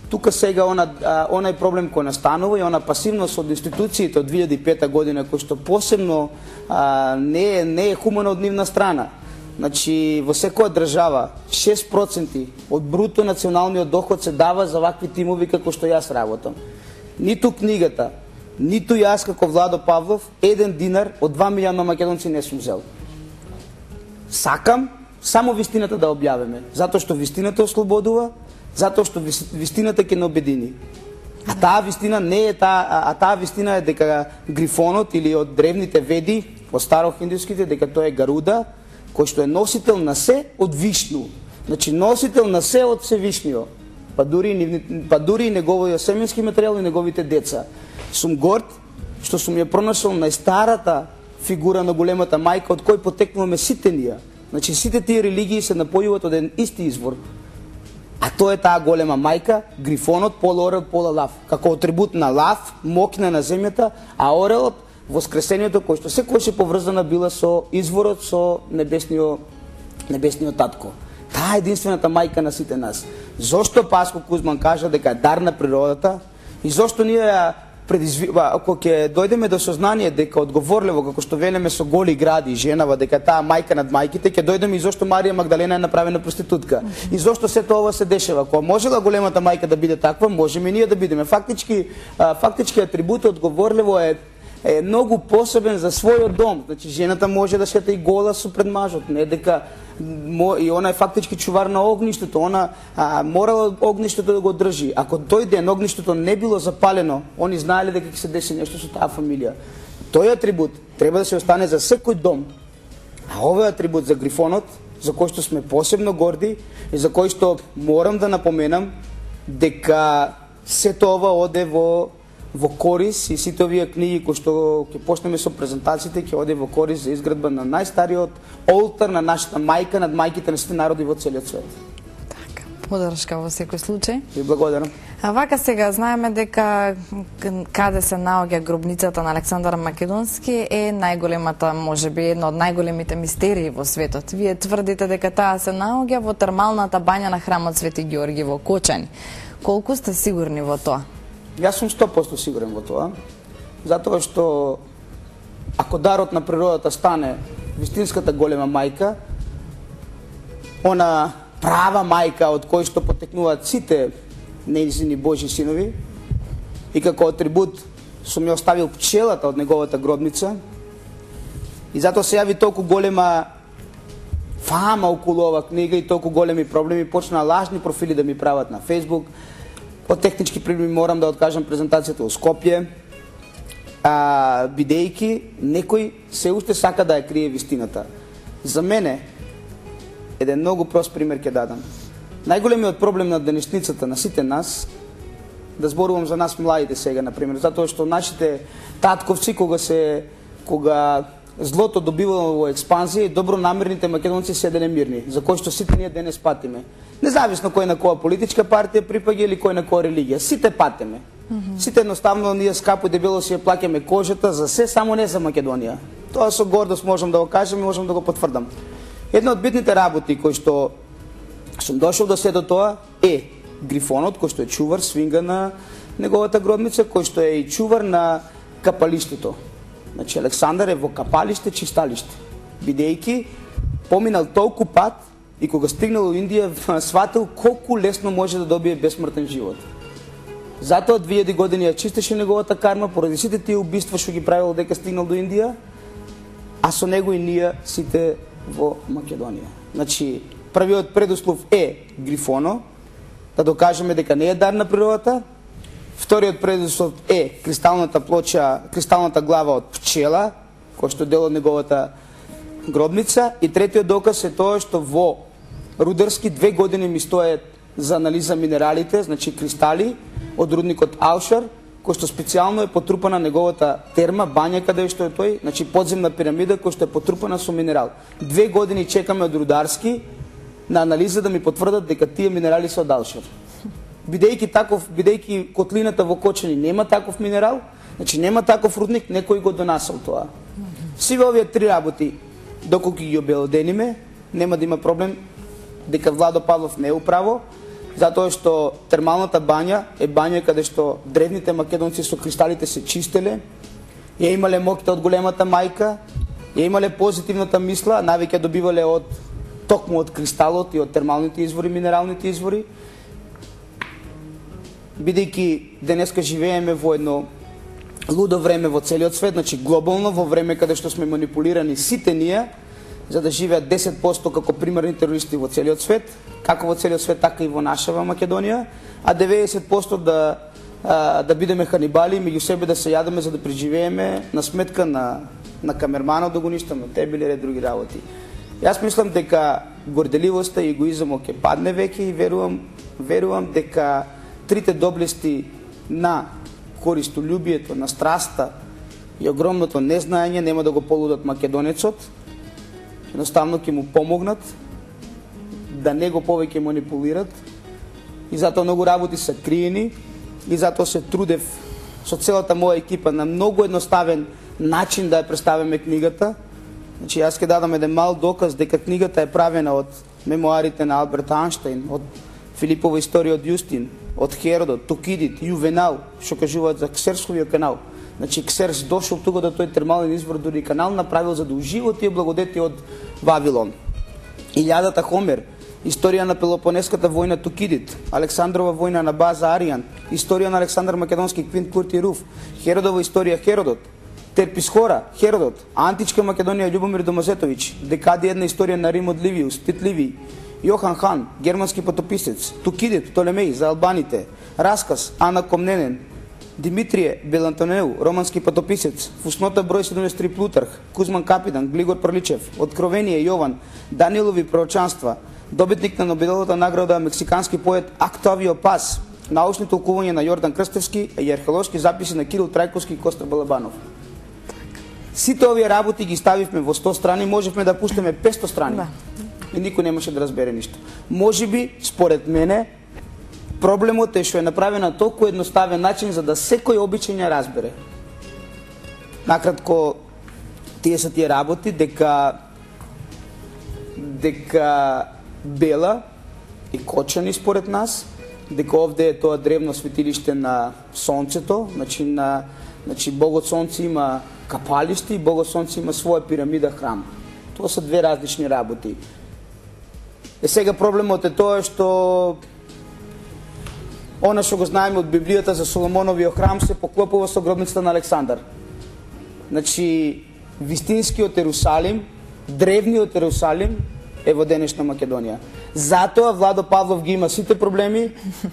Тука сега она, а, онај проблем кој настанува и она пасивност од институциите од две илјади и пета година, кој што посебно а, не, е, не е хумано од нивна страна. Значи, во секоја држава шест проценти од бруто националниот доход се дава за вакви тимови како што јас работам. Ниту книгата, ниту јас како Владо Павлов, еден динар од два милиона македонци не сум взел. Сакам само вистината да објавиме, затоа што вистината ослободува, затоа што вистината ќе не обедини. А таа вистина не е таа, а таа вистина е дека грифонот или од древните веди, од старохиндуските, дека тој е Гаруда, кој што е носител на се од Вишну. Значи носител на се од Севишниот. Па дури, па дури и неговиот семенски материјал и неговите деца. Сум горд што сум ја пронашол најстарата фигура на големата мајка од кој потекнуваме сите ние. Значи сите тие религии се напојуваат од еден исти извор. А тоа е таа голема мајка, грифонот, пола орел, пола лав. Како атрибут на лав, мокна на земјата, а орелот, воскресението, кој што секој поврзана била со изворот, со небесниот, небесниот татко. Таа е единствената мајка на сите нас. Зошто Паско Кузман кажа дека е дар на природата и зошто ние ја предизвива, ако ќе дојдеме до сознание дека одговорливо, како што велеме со голи гради, женава, дека таа мајка над мајките, ќе дојдеме и зошто Марија Магдалена е направена проститутка. И зошто сето ова се дешава. Кога можела големата мајка да биде таква, можеме и ние да бидеме. Фактички, фактички атрибут одговорливо е е многу посебен за својот дом. Значи жената може да шета и гола со пред мажот, не дека и она е фактички чувар на огништето, она а, морала огништето да го држи. Ако тој ден огништето не било запалено, они знаеле дека ќе се деси нешто со таа фамилија. Тој атрибут треба да се остане за секој дом. А овој атрибут за грифонот, за кој што сме посебно горди и за кој што морам да напоменам дека сето ова оде во во корис и сите овие книги кои што ќе почнеме со презентациите ќе оде во корис за изградба на најстариот олтар на нашата мајка над мајките на сите народи во целиот свет. Така, подршка во секој случај. И благодарам. А вака сега знаеме дека каде се наоѓа гробницата на Александар Македонски е најголемата, можеби една од најголемите мистерии во светот. Вие тврдите дека таа се наоѓа во термалната бања на храмот Свети Ѓорги во Кочани. Колку сте сигурни во тоа? Јас сум сто проценти сигурен во тоа, затоа што ако дарот на природата стане вистинската голема мајка, она права мајка од кој што потекнуваат сите нејзини Божи синови, и како атрибут сум ја оставил пчелата од неговата гробница, и затоа се јави толку голема фама околу ова книга и толку големи проблеми, почна лажни профили да ми прават на Facebook. Од технички проблеми морам да откажам презентацијата во Скопје, а, бидејќи некој се уште сака да ја крие вистината. За мене, еден многу прост пример ќе дадам. Најголемиот проблем на денешницата на сите нас, да зборувам за нас младите сега, например, затоа што нашите татковци, кога се, кога злото добивало во експанзија и добронамерните македонци седеле мирни, за кои што сите ние денес патиме. Независно кој на која политичка партија припаѓа или кој на која религија, сите патиме. Mm -hmm. Сите едноставно ние скапо и дебело си ја плаќаме кожата за се, само не за Македонија. Тоа со гордост можам да го кажам и можам да го потврдам. Една од битните работи кои што сум дошол до сето тоа е грифонот, кој што е чувар, свинга на неговата гробница, кој што е и чувар на капалиштето. Значи Александар е во капалиште, чисталиште, бидејќи поминал толку пат и кога стигнал во Индија сватил колку лесно може да добие бесмртен живот. Затоа две илјади години ја чистеше неговата карма поради сите тие убиства што ги правил дека стигнал до Индија, а со него и ние сите во Македонија. Значи првиот предуслов е грифоно, да докажеме дека не е дар на природата. Вториот предуслов е кристалната плоча, кристалната глава од пчела, кој што дел од неговата гробница. И третиот доказ е тоа што во Рударски две години ми стоят за анализа минералите, значи кристали од рудникот Аушар, кој што специјално е потрупана неговата терма, бања каде што е тој, значи подземна пирамида кој што е потрупана со минерал. Две години чекаме од Рударски на анализа да ми потврдат дека тие минерали се од Аушар. Бидејќи таков, бидејќи котлината во Кочани нема таков минерал, значи нема таков рудник, некој го донасал тоа. Сиве овие три работи, доколку ги обелодениме, нема да има проблем дека Владо Павлов не е управо, затоа што термалната бања е бања каде што древните македонци со кристалите се чистеле, ја имале моќта од големата мајка, ја имале позитивната мисла, навеќе добивале од токму од кристалот и од термалните извори, минералните извори. Бидејќи денеска живееме во едно лудо време во целиот свет, значи глобално, во време каде што сме манипулирани сите ние, за да живеат десет проценти како примерни терористи во целиот свет, како во целиот свет, така и во нашава Македонија, а деветдесет проценти да а, да бидеме ханибали, меѓу себе да се јадеме за да преживееме на сметка на на камерманот да го ништаме, те били ред други работи. Јас мислам дека горделивоста и егоизмот ќе падне веќе и верувам верувам дека трите доблести на користолюбието, на страста и огромното незнаење нема да го полудат македонецот. Едноставно ќе му помогнат да не го повеќе манипулират и затоа многу работи се криени и затоа се трудев со целата моја екипа на многу едноставен начин да ја представиме книгата. Значи јас ќе дадам еден мал доказ дека книгата е правена од мемоарите на Алберт Анштейн, од Филипова историја од Јустин, од Херодот, Тукидид, Јувенал, што кажуваат за Ксерсковиот канал. Значи Ксерс дошол тука да тој термален извор, дури канал направил за да ужива тие благодети од Вавилон. Илјадата Хомер, историја на Пелопонеската војна Тукидид, Александрова војна на база Аријан, историја на Александар Македонски, Квинт Курти Руф, Херодова историја Херодот, Терписхора, Херодот, Античка Македонија Љубомир Домазетовиќ, Декади една историја на Рим од Ливиус, Тит Ливиј, Јохан Хан, германски потописец, Тукидид, Птолемеј за албаните, Расказ, Ана Комненен, Димитрije Белантонеу, романски потописец, Фуснота број седумдесет и три Плутарх, Кузман Капидан, Глигор Прличев, Откровение Јован, Данилови пророчанства, добитник на Нобеловата награда мексикански поет Октавио Пас, научни толкувања на Јордан Крстевски и археолошки записи на Кирил Трајковски и Костар Балабанов. Сите овие работи ги ставивме во сто страни, можевме да пуштиме петсто страни. Да. И никој немаше да разбере ништо. Можеби, според мене, проблемот е што е направен на толку едноставен начин за да секој обичај ја разбере. Накратко, тие се тие работи дека дека Бела и Кочани според нас, дека овде е тоа древно светилиште на сонцето, значи на значи Богот Сонце има капалиште и Богот Сонце има своја пирамида храм. Тоа се две различни работи. Е сега проблемот е тоа што она што го знаеме од Библијата за Соломоновиот храм се поклопува со гробницата на Александар. Значи, вистинскиот Ерусалим, древниот Ерусалим е во денешна Македонија. Затоа Владо Павлов ги има сите проблеми,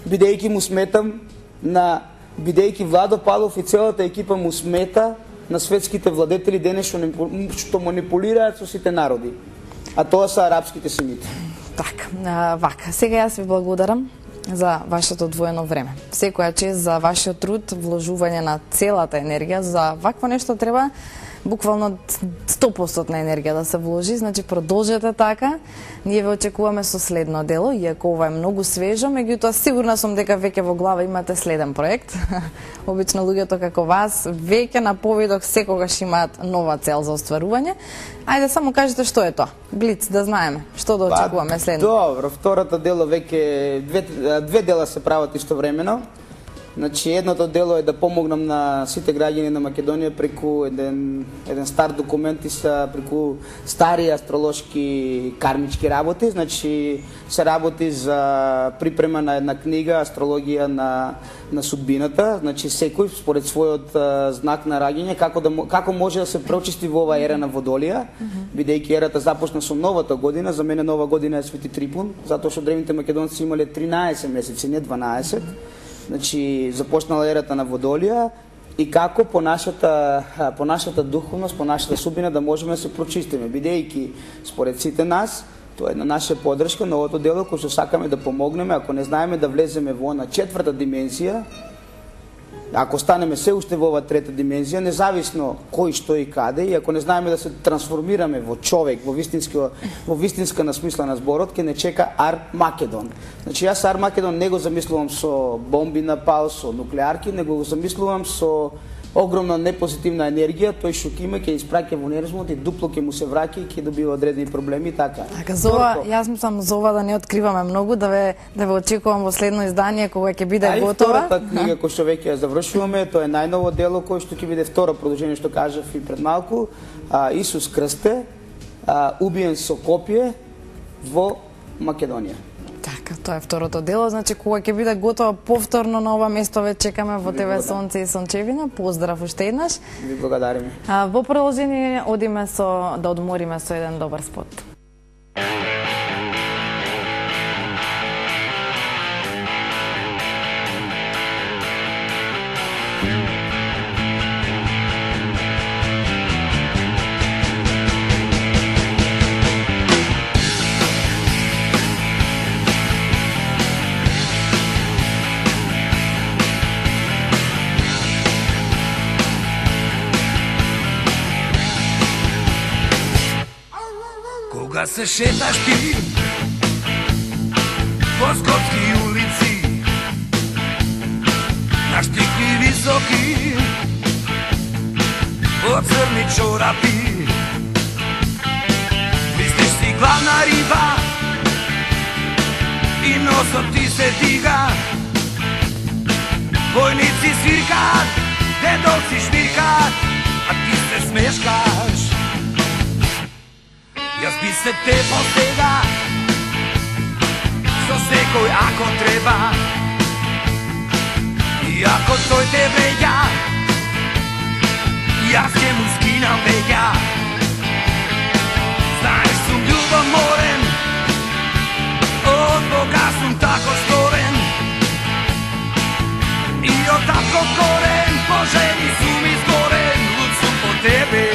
бидејќи му сметам на бидејќи Владо Павлов и целата екипа му смета на светските владетели денес што манипулираат со сите народи. А тоа се арапските семити. Така, вака, сега јас ви благодарам за вашето одвоено време. Секоја чест за вашиот труд, вложување на целата енергија, за вакво нешто треба буквално сто проценти енергија да се вложи, значи продолжете така. Ние ве очекуваме со следно дело, иако ова е многу свежо, меѓутоа сигурна сум дека веќе во глава имате следен проект. Обично луѓето како вас веќе на повидок секогаш имаат нова цел за остварување. Ајде само кажете што е тоа. Блиц, да знаеме што да очекуваме следно. Добро, второто дело веќе две, две дела се прават истовремено. Значи, едното дело е да помогнам на сите граѓани на Македонија преку еден, еден стар документ и са преку стари астролошки кармички работи. Значи, се работи за припрема на една книга Астрологија на, на судбината. Значи, секој според својот а, знак на раѓање, како, да, како може да се прочисти во ова ера на Водолија, mm -hmm. бидејќи ерата започна со новата година. За мене нова година е Свети Трипун, затоа што древните македонци имале тринаесет месеци, не дванаесет. Значи, започнала ерата на Водолија и како по нашата, по нашата духовност, по нашата судбина да можеме да се прочистиме, бидејќи според сите нас, тоа е на наша поддршка на овото дело кој што сакаме да помогнеме, ако не знаеме да влеземе во на четврта димензија, ако станеме се уште во ова трета димензија, независно кој, што и каде, и ако не знаеме да се трансформираме во човек, во вистинска, во вистинска насмисла на зборот, ќе не чека Ар-Македон. Значи, јас Ар-Македон не го замислувам со бомби на пал, со нуклеарки, него го замислувам со огромна непозитивна енергија, тој што ќе има ќе испраќа во универзумот и дупло ќе му се враќа и ќе добива одредени проблеми и така. Така, за ова, јас мислам за ова да не откриваме многу, да ве да ве очекувам во следно издание кога ќе биде а готова. А втората книга која што веќе ја завршуваме, тоа е најново дело кој што ќе биде второ продолжение што кажав и пред малку, а, Исус Крсте, а, убиен со копие во Македонија. Така, тоа е второто дело, значи кога ќе биде готово повторно на ова место ве чекаме во ТВ Сонце и Сончевина. Поздрав уште еднаш. Ви благодариме. А, во продолжение одиме со да одмориме со еден добар спот. Кога се шеташ ти по скотски улици, на штикли високи, по црни чорапи, мислиш си главна риба и носот ти се дига. Војници свиркат, дедовци шмиркат, а ти се смешкаш. Јас би се те постега со секој ако треба, и ако тој те вреѓа, јас ќе му скинам веќа. Знаеш, сум љубоморен, од Бога сум тако створен, и од тако корен по жени сум изгорен, луд сум по тебе.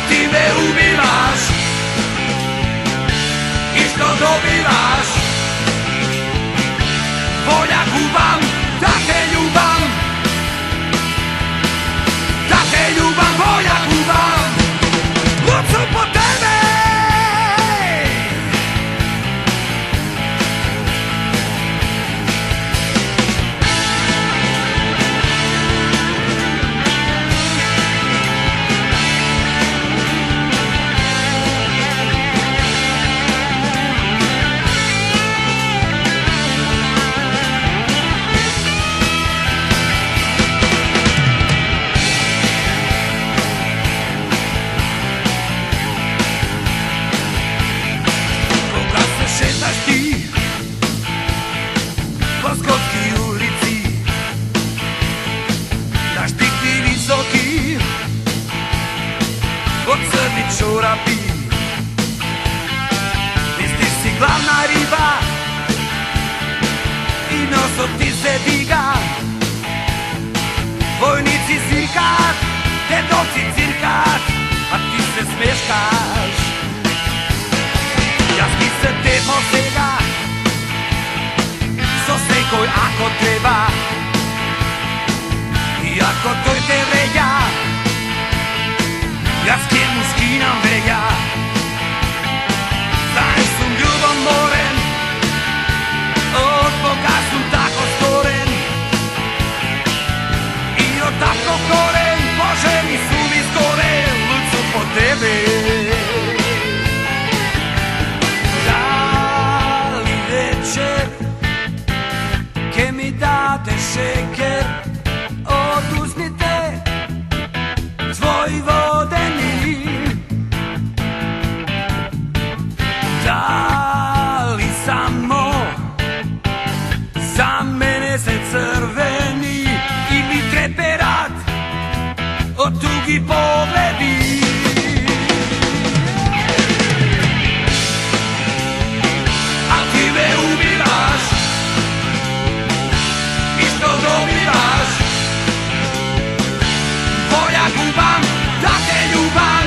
Ти ме убиваш и што добиваш? Волја губам да те љубам, да те љубам, волја губам, луд сум по тебе. Чорапи, мислиш си главна риба и носот ти се дига. Војници свиркат, дедовци циркат, а ти се смешкаш. Јас би се те посега со секој ако треба, и ако тој те вреѓа, јас ќе му скинам веќа. Знаеш, сум љубоморен, од Бога сум тако створен, и од тако корен по жени сум изгорен, луд сум по тебе. Дали вечер ќе ми дадеш шекер од устните твои водени? Дали само за мене се црвени или треперат од туги погледи? А ти ме убиваш и што добиваш? Волја губам да те љубам,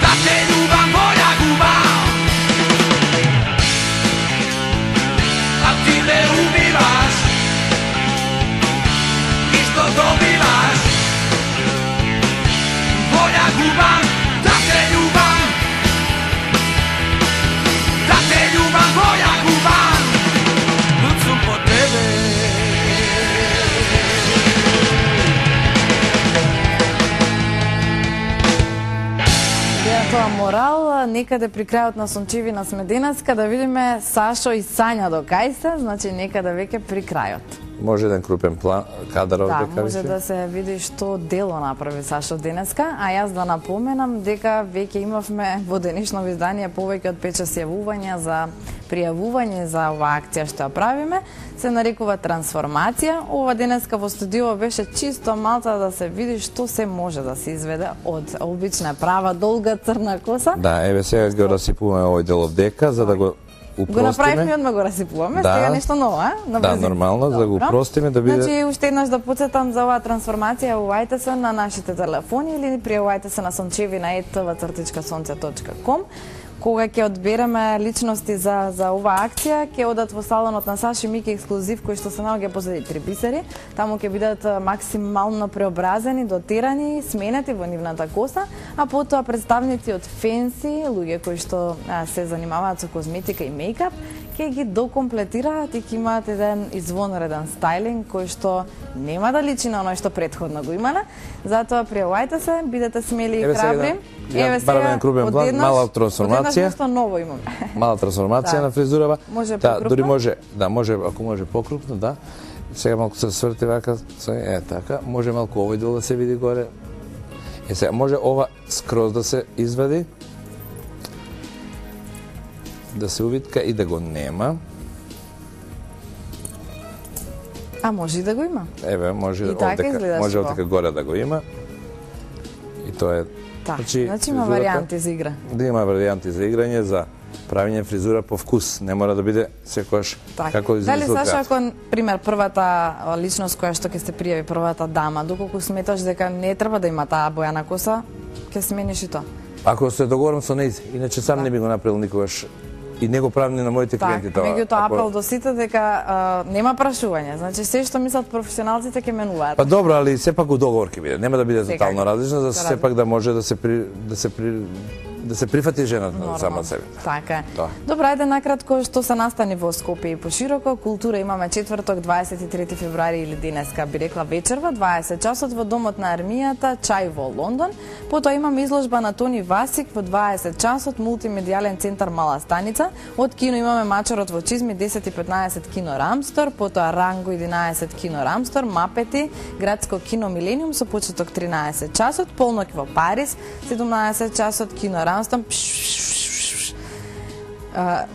да те љубам, волја губам. А ти ме убиваш и што добиваш? Волја губам да те љубам, да те љубам, волја губам, луд сум по тебе. Тоа морал, некаде при крајот на Сончевина сме денеска, да видиме Сашо и Сања до кај се, значи некаде веќе при крајот. Може еден крупен план, кадар овде, Да, може да се види што дело направи Сашо денеска, а јас да напоменам дека веќе имавме во денешно издание повеќе од пет-шест јавувања за пријавување за оваа акција што ја правиме, се нарекува трансформација. Ова денеска во студио беше чисто малку да се види што се може да се изведе од обична права долга црна коса. Да, еве сега го расипуваме овој дел од дека за да го упростиме. Го направивме, одма го расипуваме, Да. сега нешто ново, а? На Да, брзина. нормално, да го Добро. упростиме, да биде... Значи, уште еднаш да подсетам за оваа трансформација, јавувајте се на нашите телефони или пријавувајте се на сончевина ет те вэ цртичка сонце точка ком. Кога ќе одбереме личности за за оваа акција, ќе одат во салонот на Саши Мики ексклузив, кој што се наоѓа позади три бисери. Таму ќе бидат максимално преобразени, дотирани, сменети во нивната коса, а потоа представници од Фенси, луѓе кои што а, се занимаваат со козметика и мејкап, ќе ги докомплетираат и ќе имаат еден извонреден стајлинг кој што нема да личи на оној што претходно го имале. Затоа пријавувајте се, бидете смели и храбри. Еве сега, Крубен план, мала трансформација. Одеднаш нешто ново имаме. Мала трансформација Да. на фризурава. Може да, покрупно? дури може, да, може, ако може покрупно, да. Сега малку се сврти вака, е така, може малку овој дел да се види горе. Е сега може ова скроз да се извади, да се увитка и да го нема. А може и да го има. Еве, може И така овдека, изгледаш може во. овдека горе да го има. И тоа е. Так, значи, значи има фризурата- варијанти за игра. Да има варијанти за играње, за правење фризура по вкус. Не мора да биде секојаш Так. како Дали излиза од Саша, театар. ако пример првата а, личност која што ќе се пријави, првата дама, доколку сметаш дека не треба да има таа боја на коса, ќе смениш и тоа. Ако се договорам со нејзи, иначе сам не би го направил никогаш. И не го правам ни на моите Так, клиенти тоа. меѓутоа Ако- апел до сите дека а, нема прашување. Значи се што мислат професионалците ќе менуваат. Па добро, али сепак у договор ќе биде. Нема да биде Секако. тотално различно, за Се сепак да може да се при, да се при, да се прифати жената сама себе. Така е. Тоа. Добро, ајде накратко што се настани во Скопје и пошироко. Култура имаме четврток, дваесет и трети февруари или денеска, би рекла вечерва, дваесет часот во Домот на армијата, чај во Лондон. Потоа имаме изложба на Тони Васик во дваесет часот, мултимедијален центар Мала Станица. Од кино имаме Мачарот во чизми, десет и петнаесет кино Рамстор, потоа Ранго единаесет кино Рамстор, Мапети, градско кино Милениум со почеток тринаесет часот, полноќ во Париз, седумнаесет часот кино Рамстор. А,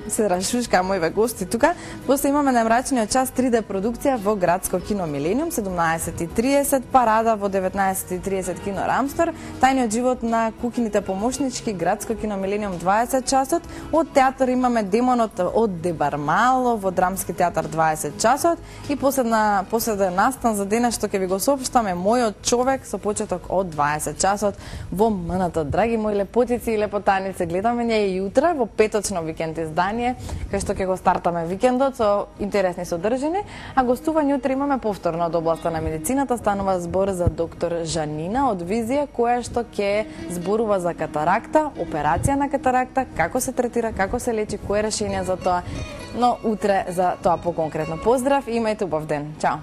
се рашушка мојве гости тука. После имаме на мрачниот час три де продукција во градско кино Милениум, седумнаесет и тридесет, парада во деветнаесет и тридесет кино Рамстор, тајниот живот на кукините помошнички, градско кино Милениум дваесет часот, од театар имаме Демонот од Дебармало во драмски театар дваесет часот и последна последен настан за денес што ќе ви го соопштаме Мојот човек со почеток од дваесет часот во МНТ. Драги мои лепотици и лепотаници, гледаме ја и утре во петочно викенд издание, кај што ќе го стартаме викендот со интересни содржини, а гостување утре имаме повторно од областа на медицината. Станува збор за доктор Жанина од Визија, која што ќе зборува за катаракта, операција на катаракта, како се третира, како се лечи, кој е решение за тоа. Но утре за тоа поконкретно. Поздрав и имајте убав ден. Чао.